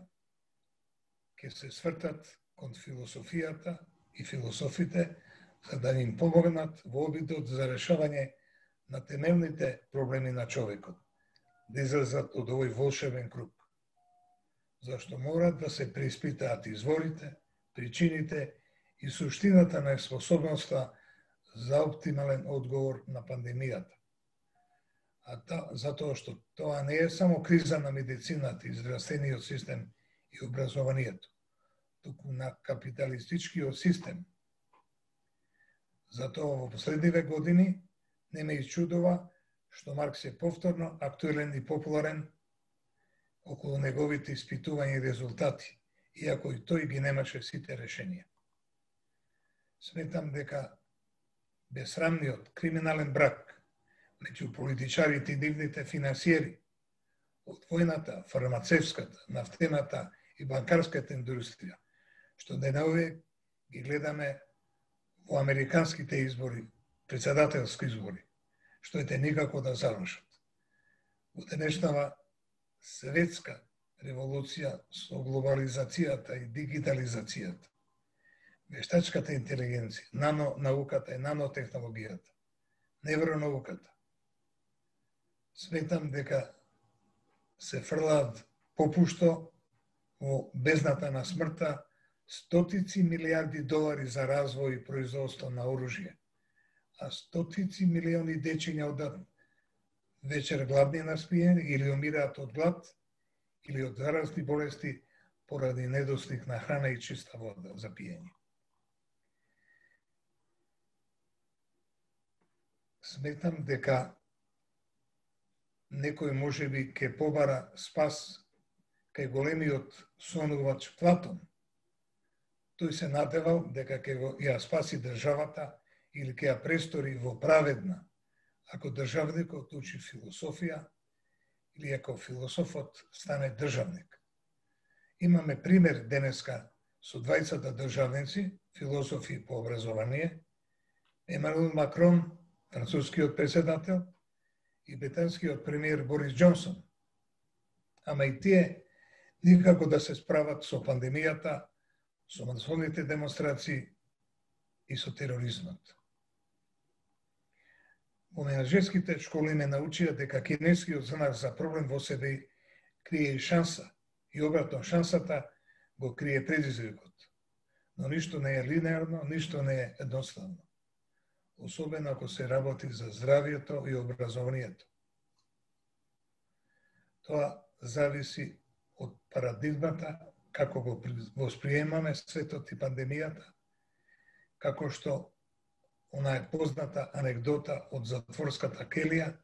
ќе се свртат кон философијата и философите, за да им помогнат во обидот за решавање на темелните проблеми на човекот, да излезат од овој волшебен круг. Зашто морат да се преиспитаат изворите, причините и суштината на способноста за оптимален одговор на пандемијата. А та, затоа што тоа не е само криза на медицината и здравствениот систем и образованието, туку на капиталистичкиот систем. Затоа во последниве години не ме исчудува што Маркс е повторно актуелен и популарен околу неговите испитувања и резултати, иако и тој ги немаше сите решенија. Сметам дека безсрамниот криминален брак меѓу политичарите и нивните финансиери од војната, фармацевската, нафтената и банкарската индустрија, што денове ги гледаме во американските избори, председателски избори, што ете никако да завршат. Во денешнава светска револуција со глобализацијата и дигитализацијата, вештачката интелигенција, нанонауката и нанотехнологијата, невронауката, сметам дека се фрлаат попушто во бездната на смртта стотици милиарди долари за развој и производство на оружје, а стотици милиони дечиња одат вечер гладни на спиење или умираат од глад или од заразни болести поради недостиг на храна и чиста вода за пиење. Сметам дека некој можеби ќе побара спас кај големиот сонувач Платон. Тој се надевал дека ќе го ја спаси државата или ќе ја престори во праведна, ако државникот учи философија или ако философот стане државник. Имаме пример денеска со двајцата државници, философи по образование, Емануел Макрон, францускиот председател, и британскиот премиер Борис Џонсон. Ама и тие никако да се справат со пандемијата, со масовните демонстрации и со тероризмот. Во менаџерските школи ме научија дека кинескиот знак за проблем во себе крие и шанса, и обратно шансата го крие предизвикот. Но ништо не е линеарно, ништо не е едноставно. Особено ако се работи за здравието и образованието. Тоа зависи од парадигмата, како го восприемаме светот и пандемијата, како што она е позната анекдота од затворската келија,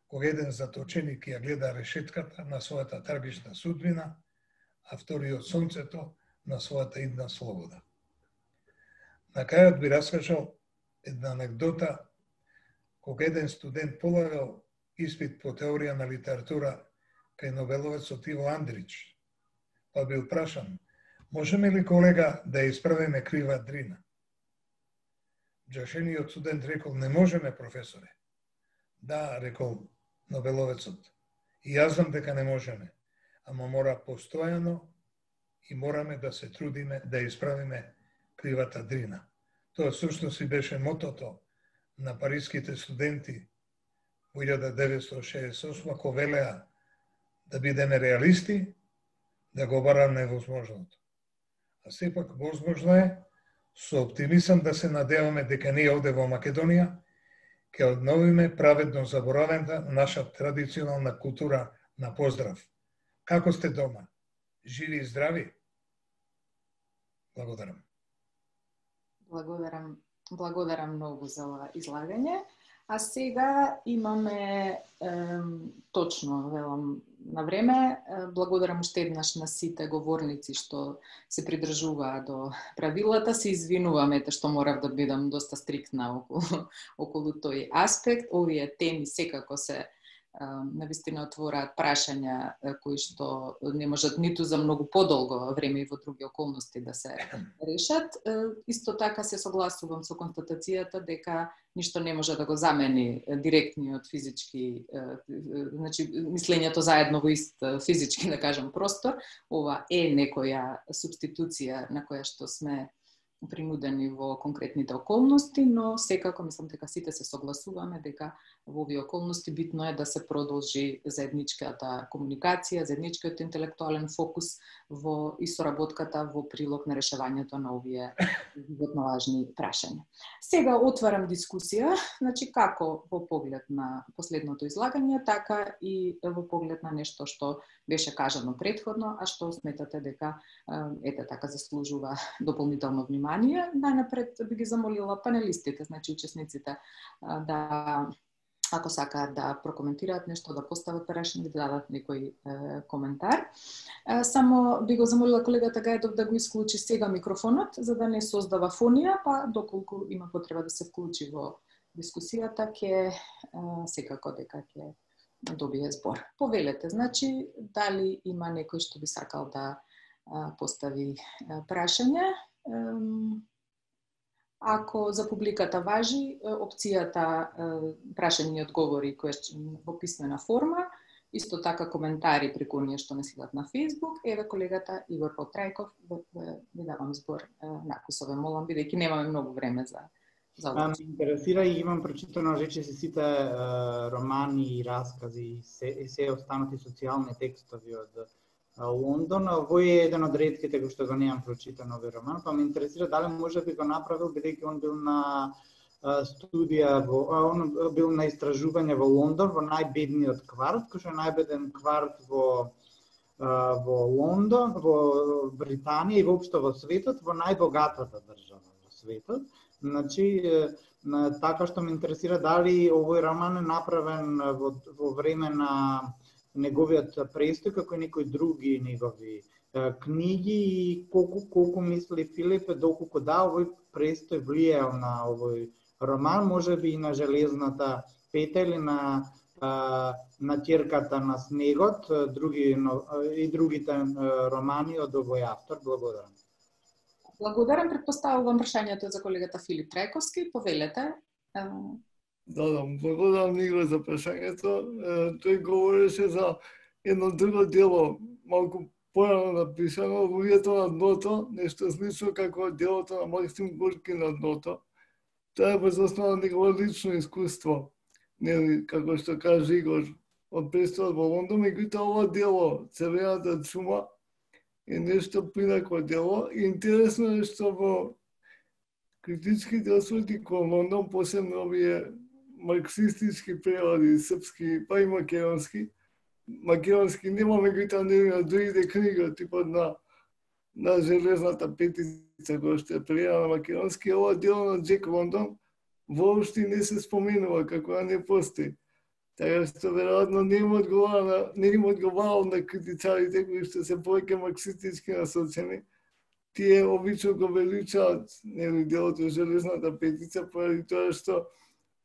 кога еден заточеник ја гледа решетката на својата трагична судбина, а вториот сонцето на својата идна слобода. На крајот би раскажал една анекдота кога еден студент полагал испит по теорија на литература кај нобеловецот Иво Андрич, па бил прашан: можеме ли, колега, да ја исправиме крива Дрина? Джашениот студент рекол: не можеме, професоре. Да, рекол нобеловецот, и јас знам дека не можеме, ама мора постојано и мораме да се трудиме да ја исправиме кривата Дрина. Тоа всушност и беше мотото на париските студенти во илјада деветстотини шеесет и осма, кога велеа да бидеме реалисти, да го бараме невозможното. А сепак возможно е, со оптимизам да се надеваме дека ние овде во Македонија ќе одновиме праведно заборавената наша традиционална култура на поздрав. Како сте дома? Живи и здрави? Благодарам. Благодарам, благодарам многу за ова излагање. А сега имаме е, точно, велам, на време. Благодарам уште еднаш на сите говорници што се придржуваа до правилата. Се извинувам ете што морав да бидам доста стриктна околу, околу тој аспект. Овие теми секако се навистина отвораат прашања кои што не можат ниту за многу подолго време и во други околности да се решат. Исто така се согласувам со констатацијата дека ништо не може да го замени директниот физички, значи мислењето заедно во ист физички, да кажам, простор. Ова е некоја субституција на која што сме принудени во конкретните околности, но секако мислам дека сите се согласуваме дека во овие околности битно е да се продолжи заедничката комуникација, заедничкиот интелектуален фокус во и соработката во прилог на решавањето на овие животно важни прашања. Сега отварам дискусија, значи како во поглед на последното излагање, така и во поглед на нешто што беше кажано претходно, а што сметате дека ете така заслужува дополнително внимание. Најнапред би ги замолила панелистите, значи учесниците, да, ако сакаат да прокоментираат нешто, да постават прашање, да дадат некој е, коментар. Е, само би го замолила колегата Гајдов да го исклучи сега микрофонот, за да не создава фонија, па доколку има потреба да се вклучи во дискусијата, ќе секако дека ќе добие збор. Повелете, значи, дали има некој што би сакал да а, постави а, прашање? Ако за публиката важи, опцијата прашање и одговори во писмена форма, исто така коментари преку оние што не следат на Facebook. Еве колегата Игор Потрајков, ви давам збор накусове, молам, бидејќи немаме многу време за за ова. Ме интересира и имам прочитано речиси сите романи и раскази и се, се останати социјални текстови од Лондон. Овој е еден од ретките кои што го немам прочитан овој роман, па ме интересира дали може би го направил бидејќи он бил на студија во он бил на истражување во Лондон, во најбедниот кварт, кој што е најбеден кварт во во Лондон, во Британија и воопшто во светот, во најбогатата држава во светот. Значи, така што ме интересира дали овој роман е направен во, во време на неговиот престој, како и некои други негови книги и колку, колку мисли Филип, доколку да, овој престој влијал на овој роман, може би и на Железната пета или на на Ќерката на снегот, други и другите романи од овој автор. Благодарам. Благодарам, претпоставувам прашањето за колегата Филип Трајковски. Повелете. Да, да, благодарам Нигро за прашањето. Тој говореше за едно друго дело, малку порано написано, Луѓето на дното, нешто слично како делото на Максим Горки на дното. Тоа е воз основа на негово лично искуство, нели, како што кажа Игор, од престојот во Лондон, меѓутоа ова дело, Црвената чума, е нешто принакво дело. И интересно е што во критичките осврти кон Лондон, посебно овие марксистички преводи, српски, па и македонски, македонски нема, меѓутоа не на другите книги, типот на на Железната петица, која што е преведена на македонски, ова дело на Джек Лондон воопшто не се споменува, како да не постои. Така што веројатно не им одговара на, не им одговарал на критичарите кои што се повеќе марксистички насочени. Тие обично го величаат, нели, делото Железната петица, поради тоа што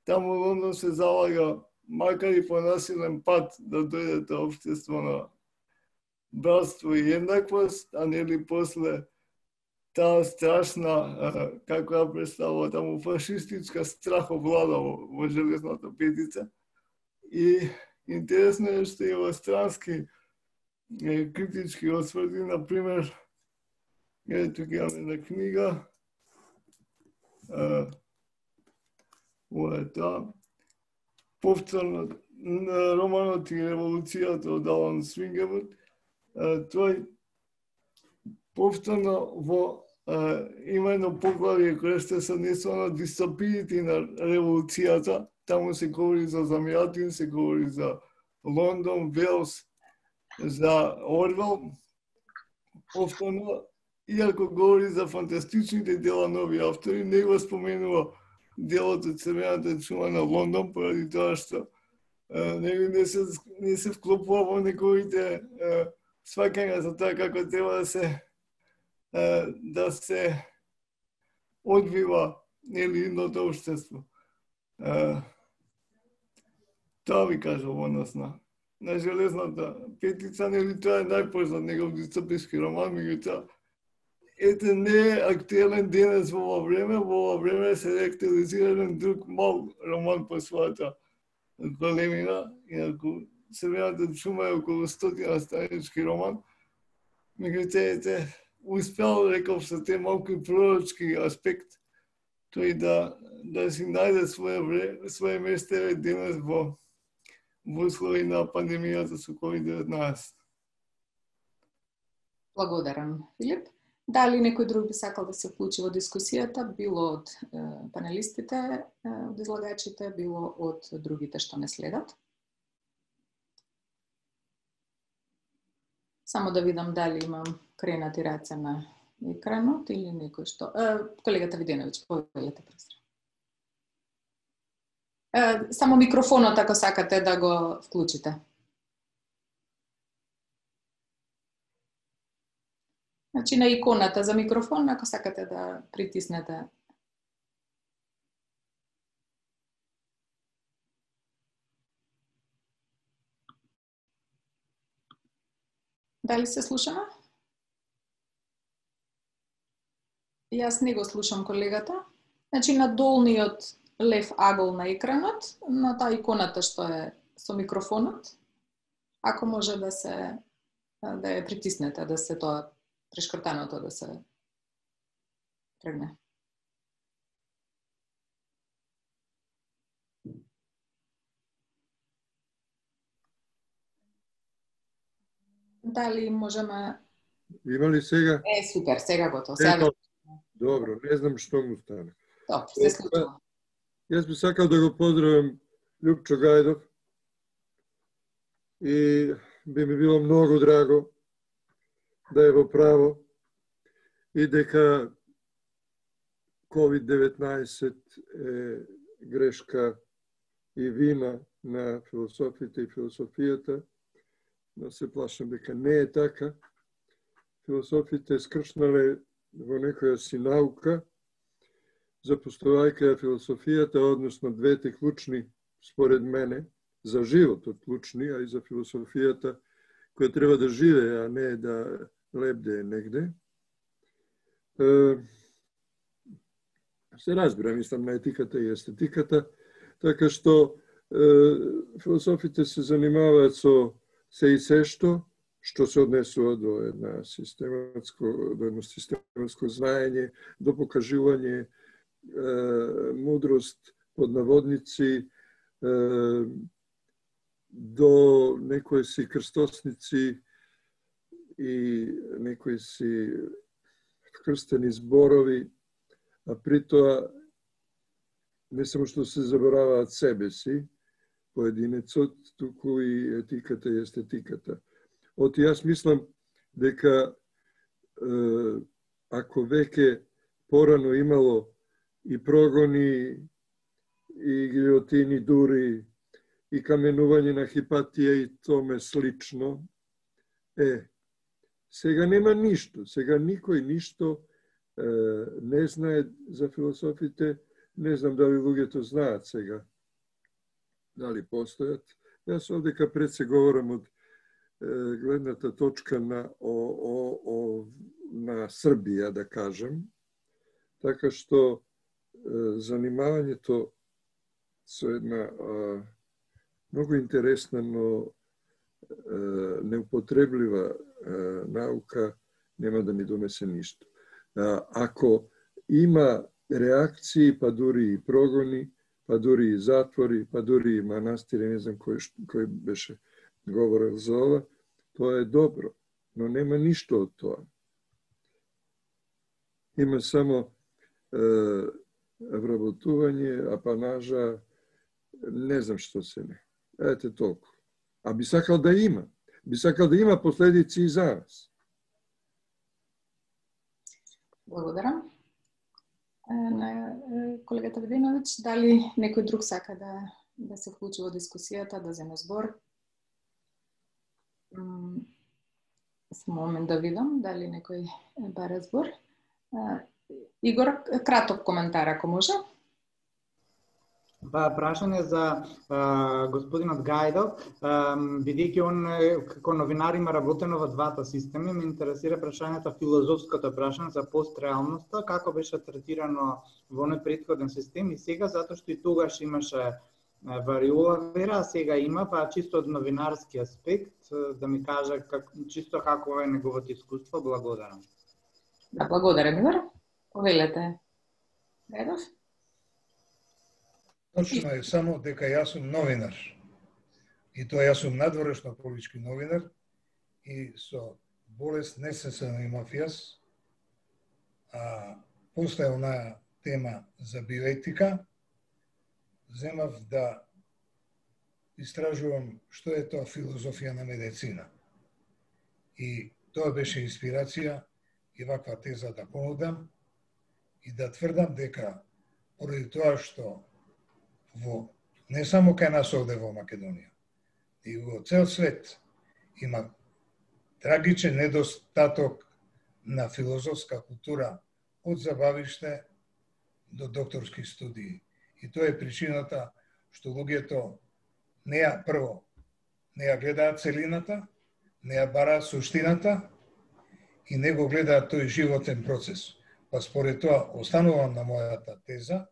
таму Лондон се залага, макар и по насилен пат, да дојде до општество на братство и еднаквост, а нели после таа страшна, како ја представува таму, фашистичка страховлада во, во Железната петица. И интересно е што и во странски е, критички осврти, например, е, тук имаме една книга, а, ова е тоа, повторно романот и револуцијата од Алан Свингервуд. Тој повторно во а, има едно поглавје кое што се однесува на дистопиите на револуцијата. Таму се говори за Замјатин, се говори за Лондон, Велс, за Орвел. Повторно, иако говори за фантастичните дела на овие автори, не го споменува делото Црвената чума на Лондон, поради тоа што не, не, се, не се вклопува во неговите сваќања за тоа како треба да се да се одвива, нели, едното општество. Тоа ви кажам во однос на, на Железната петица, нели, тоа е најпознат негов дистописки роман, меѓутоа ете не е актуелен денес во ова време, во ова време се реактуализира еден друг мал роман по својата големина, инаку Црвената чума е околу стотина странички роман, меѓутоа ете успел, реков, со те малку и пророчки аспект, тој да да си најде свое време, свое место денес во во услови на пандемијата со ковид деветнаесет. Благодарам, Филип. Дали некој друг би сакал да се вклучи во дискусијата, било од е, панелистите, е, од излагачите, било од другите што не следат? Само да видам дали имам кренати раце на екранот или некој што... Е, колегата Виденовиќ, повелете пресра. Е, само микрофонот, ако сакате да го вклучите. Значи на иконата за микрофон, ако сакате да притиснете. Дали се слушаме? Јас не го слушам колегата. Значи на долниот лев агол на екранот, на таа иконата што е со микрофонот, ако може да се да ја притиснете, да се тоа прешкртаното да се тргне. дали можеме... Има ли сега? Е, супер, сега готово. Сега... Ето, добро, не знам што му стане. Топ, се случува. Јас би сакал да го поздравам Љупчо Гајдов и би ми било многу драго да е во право и дека ковид деветнаесет е грешка и вина на философите и философијата, но се плашам дека не е така. Философите скршнале во некоја си наука, запоставајќи ја философијата, односно двете клучни, според мене, за животот клучни, а и за философијата, која треба да живее, а не да лебде негде. Се разбира, мислам, на етиката и естетиката, така што философите се занимаваат со се и се што, што се однесува до една систематско, до едно систематско знаење, до покажување е, мудрост под наводници, е, до некои си крстосници и некои си крстени зборови, а при тоа не само што се забораваат себе си, поединецот, туку и етиката и естетиката. Оти јас мислам дека е, ако веќе порано имало и прогони, и гилјотини дури, и каменување на Хипатија и томе слично, е, сега нема ништо, сега никој ништо е, не знае за философите, не знам дали луѓето знаат сега, дали постојат. Јас овдека пред се говорам од е, гледната точка на, о, о, о, на Србија, да кажем, така што е, занимавањето со една е, многу интересна, но е, неупотреблива е, наука нема да ни донесе ништо. Ако има реакции, па дури и прогони, па дури и затвори, па дури и манастири, не знам кој, кој беше говорил за ова, тоа е добро, но нема ништо од тоа. Има само е, вработување, апанажа, не знам што се не. Ете толку. А би сакал да има. Би сакал да има последици и за нас. Благодарам. На колегата Вединовиќ, дали некој друг сака да, да се вклучи во дискусијата, да земе збор? Само момент да видам дали некој бара збор. Игор, краток коментар, ако може. Па, прашање за а, господинот Гајдов, бидејќи он како новинар има работено во двата системи, ме интересира прашањето, филозофското прашање за постреалноста, како беше третирано во оној претходен систем и сега, затоа што и тогаш имаше вариола вера, а сега има, па чисто од новинарски аспект, да ми каже как, чисто како е неговото искуство. Благодарам. Да, благодарам, Игор. Повелете, Гајдов. Точно е само дека јас сум новинар. И тоа јас сум надворешно политички новинар и со болест не се занимав јас. А после онаа тема за биоетика, земав да истражувам што е тоа филозофија на медицина. И тоа беше инспирација и ваква теза да понудам и да тврдам дека поради тоа што во не само кај нас овде во Македонија, и во цел свет има трагичен недостаток на филозофска култура од забавиште до докторски студии. И тоа е причината што луѓето не ја прво не ја гледаат целината, не ја бараат суштината и не го гледаат тој животен процес. Па според тоа останувам на мојата теза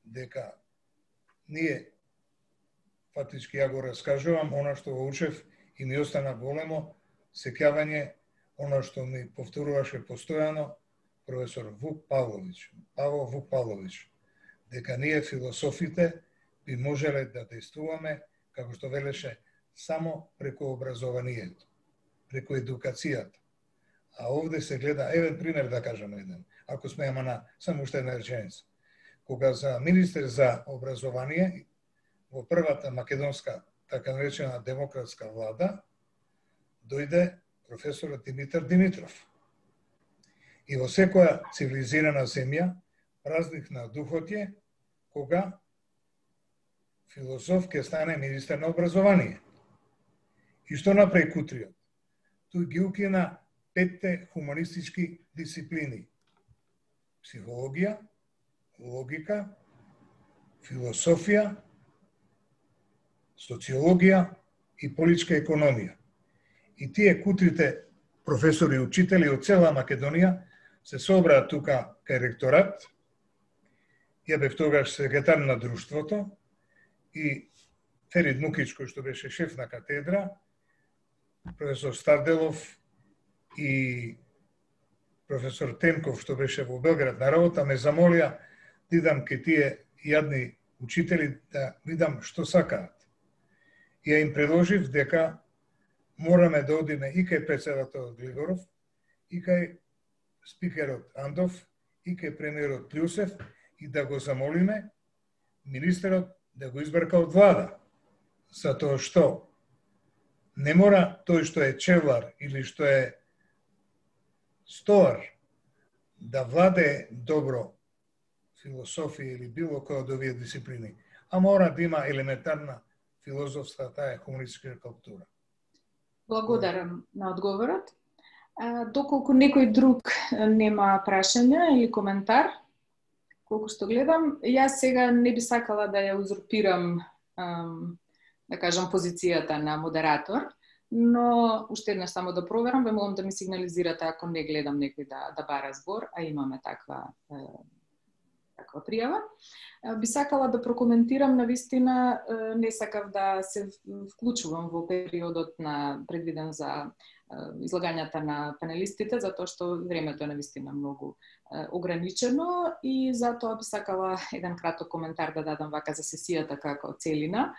дека ние, фактички ја го раскажувам, она што го учев и ми остана големо сеќавање, она што ми повторуваше постојано професор Вук Павловиќ, Павол Вук Павловиќ, дека ние философите би можеле да действуваме, како што велеше, само преку образованието. преку едукацијата. А овде се гледа, евен пример да кажам еден, ако смееме на само уште една реченица. Кога за министер за образование во првата македонска, така наречена демократска влада, дојде професорот Димитар Димитров. И во секоја цивилизирана земја празник на духот е кога филозоф ќе стане министер на образование. И што направи Кутриот? Тој ги укина петте хуманистички дисциплини. Психологија, логика, философија, социологија и политичка економија. И тие кутрите професори и учители од цела Македонија се собраа тука кај ректорат. Ја бев тогаш секретар на друштвото и Ферид Мукич, кој што беше шеф на катедра, професор Старделов и професор Тенков, што беше во Белград на работа, ме замолија да идам кај тие јадни учители да видам што сакаат. И ја им предложив дека мораме да одиме и кај председателот Глигоров, и кај спикерот Андов, и кај премиерот Плјусев и да го замолиме министерот да го избрка од влада. Затоа што не мора тој што е чевлар или што е стовар да владее добро философија или било која од овие дисциплини, а мора да има елементарна филозофска таа хуманистичка култура. Благодарам на одговорот. А, доколку некој друг нема прашања или коментар, колку што гледам, јас сега не би сакала да ја узурпирам, ам, да кажам, позицијата на модератор, но уште еднаш само да проверам, ве молам да ми сигнализирате ако не гледам некој да, да бара збор, а имаме таква, е, таква пријава. Би сакала да прокоментирам, навистина не сакав да се вклучувам во периодот на предвиден за излагањата на панелистите, затоа што времето е навистина многу ограничено и затоа би сакала еден краток коментар да дадам вака за сесијата како целина.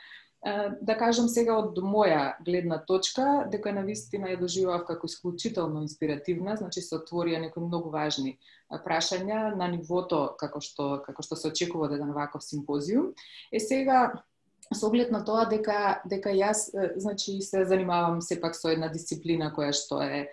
Да кажам сега од моја гледна точка, дека навистина ја доживав како исклучително инспиративна, значи се отворија некои многу важни прашања на нивото како што како што се очекува од еден ваков симпозиум. Е сега со оглед на тоа дека дека јас значи се занимавам сепак со една дисциплина која што е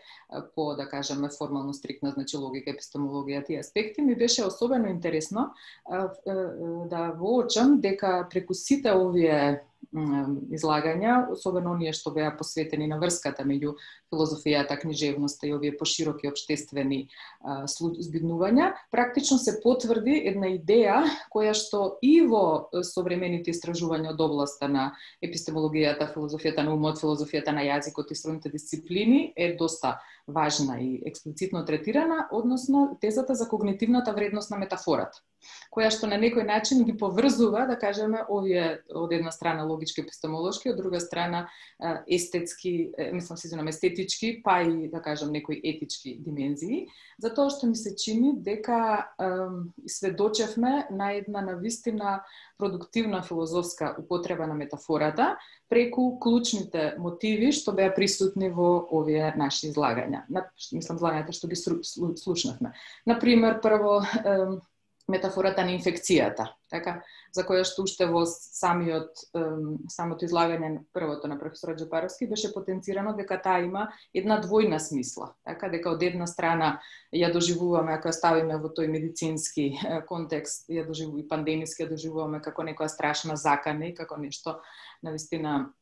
по, да кажеме, формално стриктна, значи логика, епистемологија, тие аспекти, ми беше особено интересно да воочам дека преку сите овие излагања, особено оние што беа посветени на врската меѓу филозофијата, книжевноста и овие пошироки општествени збиднувања, практично се потврди една идеја која што и во современите истражувања од областа на епистемологијата, филозофијата на умот, филозофијата на јазикот и сродните дисциплини е доста важна и експлицитно третирана, односно тезата за когнитивната вредност на метафората, која што на некој начин ги поврзува, да кажеме, овие од една страна логички епистемолошки, од друга страна естетски, мислам се извинам, естетички, па и да кажам некои етички димензии, затоа што ми се чини дека е, сведочевме на една навистина продуктивна филозофска употреба на метафората преку клучните мотиви што беа присутни во овие наши излагања. На, мислам, излагањата што ги слушнавме. Например, прво, е, метафората на инфекцијата, така, за која што уште во самиот, самото излагање првото на професорот Джапаровски беше потенцирано дека таа има една двојна смисла, така, дека од една страна ја доживуваме, ако ја ставиме во тој медицински контекст, ја доживуваме, пандемиски ја доживуваме како некоја страшна закана и како нешто навистина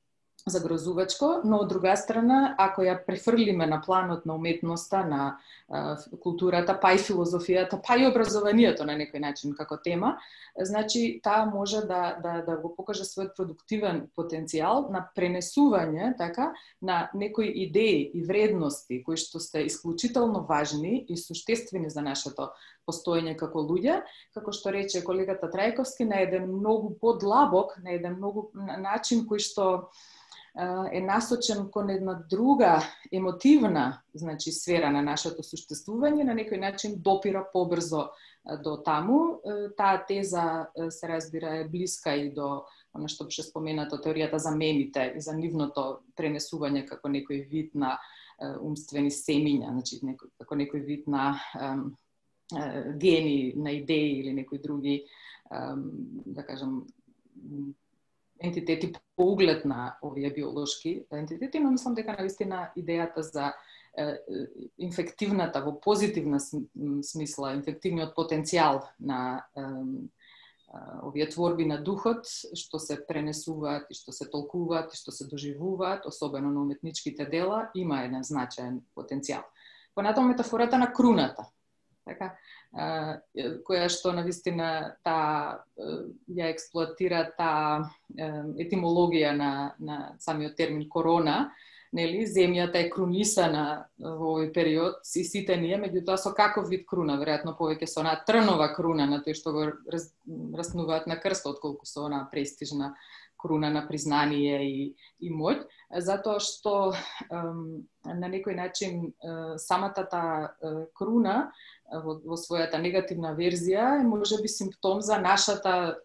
загрозувачко, но од друга страна, ако ја префрлиме на планот на уметноста, на а, културата, па и филозофијата, па и образованието на некој начин како тема, значи таа може да, да, да го покаже својот продуктивен потенцијал на пренесување, така, на некои идеи и вредности кои што се исклучително важни и суштествени за нашето постоење како луѓе, како што рече колегата Трајковски, на еден многу подлабок, на еден многу начин кој што е насочен кон една друга емотивна, значи, сфера на нашето суштествување, на некој начин допира побрзо до таму. Таа теза се разбира е блиска и до она што беше споменато, теоријата за мемите и за нивното пренесување како некој вид на умствени семиња, значи некој, како некој вид на ем, гени, на идеи или некои други, ем, да кажам, ентитети по углед на овие биолошки ентитети, но мислам дека навистина идејата за инфективната, во позитивна смисла, инфективниот потенцијал на овие творби на духот, што се пренесуваат и што се толкуваат и што се доживуваат, особено на уметничките дела, има еден значаен потенцијал. Понатаму метафората на круната, така, која што навистина таа ја експлоатира таа етимологија на на самиот термин корона, нели, земјата е крунисана во овој период, и сите ние, меѓутоа со каков вид круна, веројатно повеќе со онаа трнова круна на тој што го раз, раснуваат на крстот, отколку со онаа престижна круна на признание и, и моќ, затоа што ем, на некој начин самата таа круна во, во својата негативна верзија е можеби симптом за нашата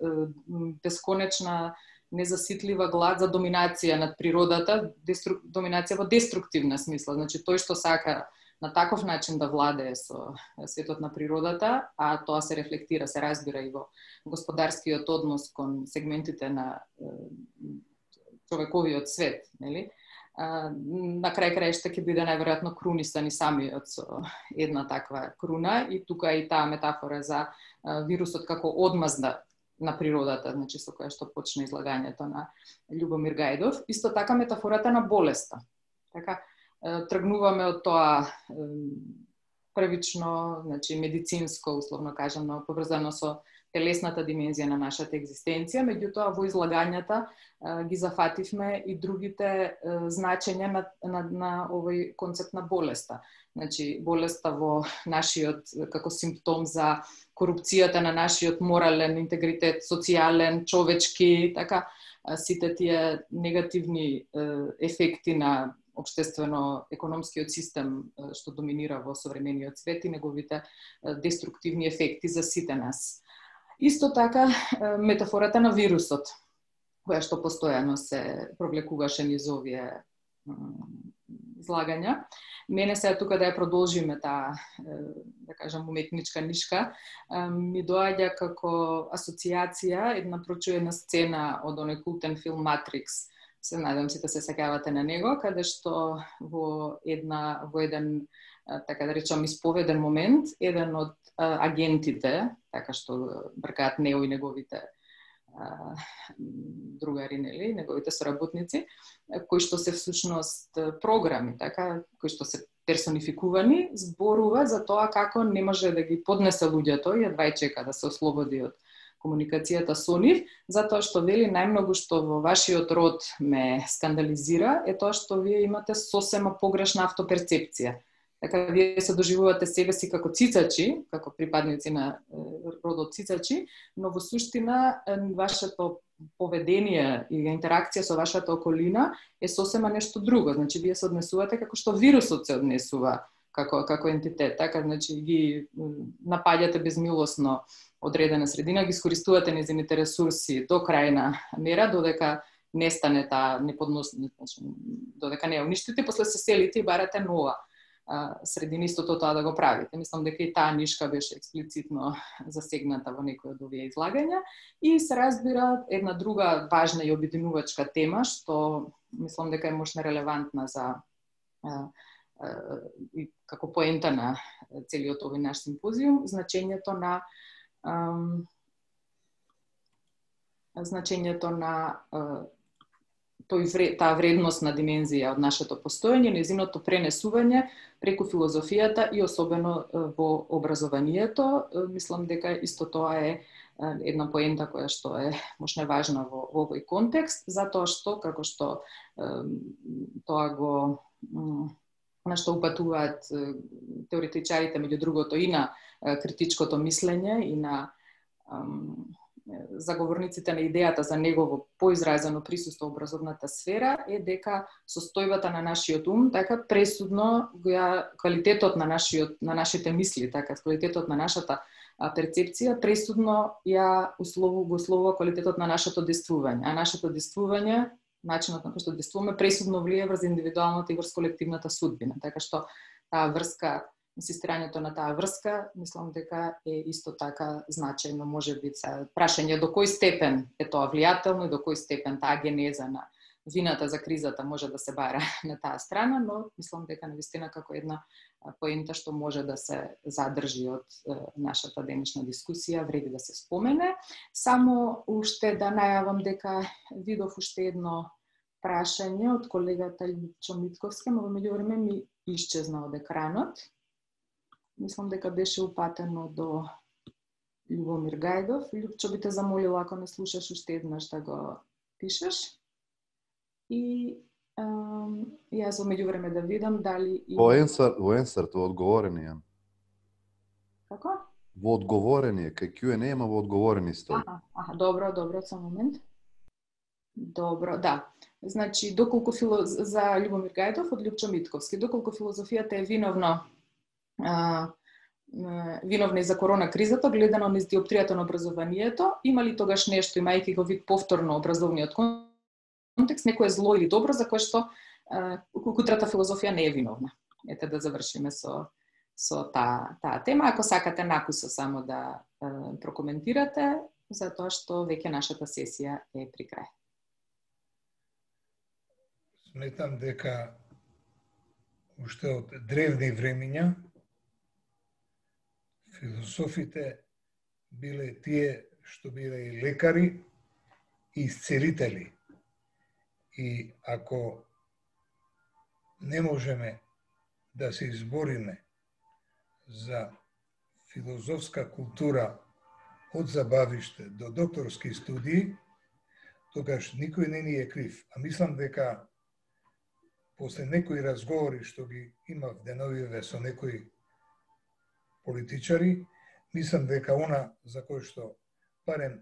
бесконечна незаситлива глад за доминација над природата, дестру... доминација во деструктивна смисла, значи тој што сака на таков начин да владее со светот на природата, а тоа се рефлектира, се разбира и во господарскиот однос кон сегментите на човековиот свет, нели? На крај краишта ќе биде најверојатно крунисан и самиот со една таква круна, и тука и таа метафора за вирусот како одмазда на природата, значи со која што почна излагањето на Љубомир Гајдов. Исто така метафората на болеста. Така, тргнуваме од тоа првично, значи медицинско, условно кажано, поврзано со телесната димензија на нашата екзистенција, меѓутоа во излагањата ги зафативме и другите значења на, на, на овој концепт на болеста. Значи, болеста во нашиот, како симптом за корупцијата на нашиот морален интегритет, социјален, човечки, така, сите тие негативни ефекти на општествено-економскиот систем што доминира во современиот свет и неговите деструктивни ефекти за сите нас. Исто така, метафората на вирусот, која што постојано се провлекуваше низ овие излагања. Мене сега тука да ја продолжиме таа, да кажам, уметничка нишка, ми доаѓа како асоциација една прочуена сцена од оној култен филм Матрикс. Се надам сите се сеќавате на него, каде што во една во еден, така да речам, исповеден момент, еден од агентите, така што бркаат Нео и неговите другари, нели, неговите соработници, кои што се всушност програми, така, кои што се персонификувани, зборува за тоа како не може да ги поднесе луѓето и едва чека да се ослободи од комуникацијата со нив, затоа што вели најмногу што во вашиот род ме скандализира е тоа што вие имате сосема погрешна автоперцепција. Така, вие се доживувате себе си како цицачи, како припадници на родот цицачи, но во суштина вашето поведение и интеракција со вашата околина е сосема нешто друго. Значи, вие се однесувате како што вирусот се однесува како, како ентитет. Така, значи, ги напаѓате безмилосно одредена средина, ги искористувате незините ресурси до крајна мера, додека не стане таа неподносна, значи, додека не ја уништите, после се селите и барате нова средина истото тоа да го правите. Мислам дека и таа нишка беше експлицитно засегната во некој од овие излагања и се разбира една друга важна и обединувачка тема што мислам дека е можна релевантна за а, а, и како поента на целиот овој наш симпозиум, значењето на а, значењето на а, тој таа вредносна димензија од нашето постоење, незиното пренесување преку филозофијата и особено во образованието. Мислам дека исто тоа е една поента која што е можна важна во, во овој контекст, затоа што, како што тоа го на што упатуваат теоретичарите, меѓу другото и на критичкото мислење и на заговорниците на идејата за негово поизразено присуство во образовната сфера е дека состојбата на нашиот ум, така пресудно ја квалитетот на нашиот на нашите мисли, така квалитетот на нашата перцепција пресудно ја условува го условува квалитетот на нашето действување, а нашето действување, начинот на кој што действуваме пресудно влие врз индивидуалната и врз колективната судбина, така што таа врска, инсистирањето на таа врска, мислам дека е исто така значајно, можеби прашање до кој степен е тоа влијателно и до кој степен таа генеза на вината за кризата може да се бара на таа страна, но мислам дека навистина како една поента што може да се задржи од нашата денешна дискусија, вреди да се спомене. Само уште да најавам дека видов уште едно прашање од колегата Љупчо Митковска, но во меѓувреме ми исчезна од екранот. Мислам дека беше упатено до Љубомир Гајдов. Љупчо, би те замолила, ако не слушаш уште еднаш, да го пишеш. И ам, јас во меѓувреме да видам дали... Во Ensart, во Ensart, во одговорени ја. Како? Во одговорени, кај Q and A, ама во одговорени стои. Аха, аха, добро, добро, само момент. Добро, да. Значи, доколку фило... за Љубомир Гајдов од Љупчо Митковски, доколку филозофијата е виновна а, виновна и за корона кризата, гледано низ диоптријата на образованието, има ли тогаш нешто, имајќи го вид повторно образовниот контекст, некое зло или добро за кое што кутрата филозофија не е виновна? Ете да завршиме со со таа таа тема. Ако сакате накусо само да е, прокоментирате, затоа што веќе нашата сесија е при крај. Сметам дека уште од древни времиња философите биле тие што биле и лекари и исцелители. И ако не можеме да се избориме за филозофска култура од забавиште до докторски студии, тогаш никој не ни е крив. А мислам дека после некои разговори што ги имав деновиве со некои политичари, мислам дека она за кој што барем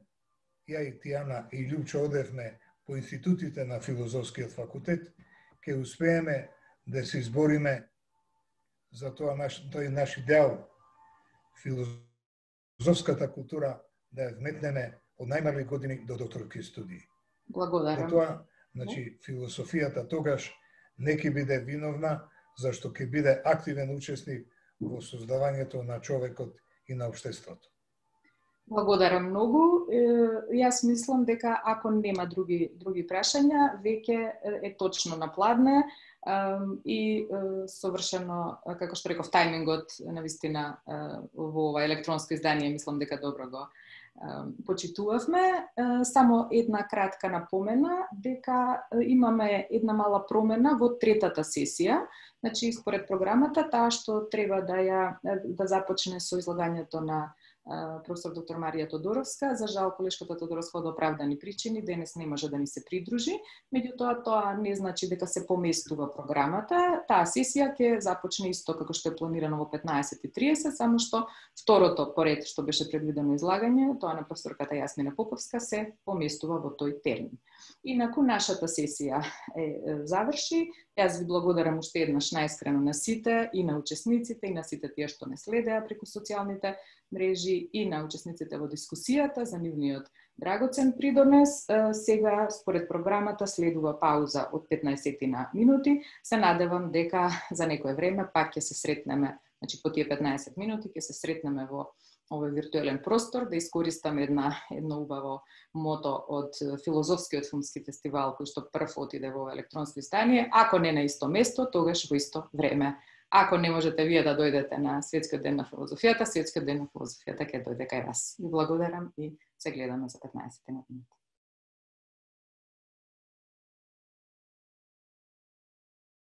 ја и Тијана и Љупчо одевме по институтите на филозофскиот факултет, ќе успееме да се избориме за тоа наш, тој наш идеал, филозофската култура да ја вметнеме од најмали години до докторски студии. Благодарам. Затоа, значи, философијата тогаш не ќе биде виновна, зашто ќе биде активен учесник во создавањето на човекот и на општеството. Благодарам многу. Јас мислам дека ако нема други други прашања, веќе е точно на пладне и совршено, како што реков, тајмингот навистина во ова електронско издание мислам дека добро го почитувавме. Само една кратка напомена дека имаме една мала промена во третата сесија. Значи, според програмата, таа што треба да ја да започне со излагањето на професор доктор Марија Тодоровска. За жал, колешката Тодоровска од оправдани причини денес не може да ни се придружи. Меѓутоа, тоа не значи дека се поместува програмата. Таа сесија ќе започне исто како што е планирано во петнаесет и триесет, само што второто поред што беше предвидено излагање, тоа на професорката Јасмина Поповска, се поместува во тој термин. Инаку нашата сесија е заврши. Јас ви благодарам уште еднаш најискрено на сите и на учесниците и на сите тие што не следеа преку социјалните мрежи и на учесниците во дискусијата за нивниот драгоцен придонес. Сега, според програмата, следува пауза од петнаесет минути. Се надевам дека за некое време пак ќе се сретнеме, значи по тие петнаесет минути ќе се сретнеме во овој виртуелен простор, да искористам една едно убаво мото од филозофскиот филмски фестивал кој што прв отиде во електронско издание. Ако не на исто место, тогаш во исто време. Ако не можете вие да дојдете на Светскиот ден на филозофијата, Светскиот ден на филозофијата ќе дојде кај вас. Ви благодарам и се гледаме за петнаесет минути.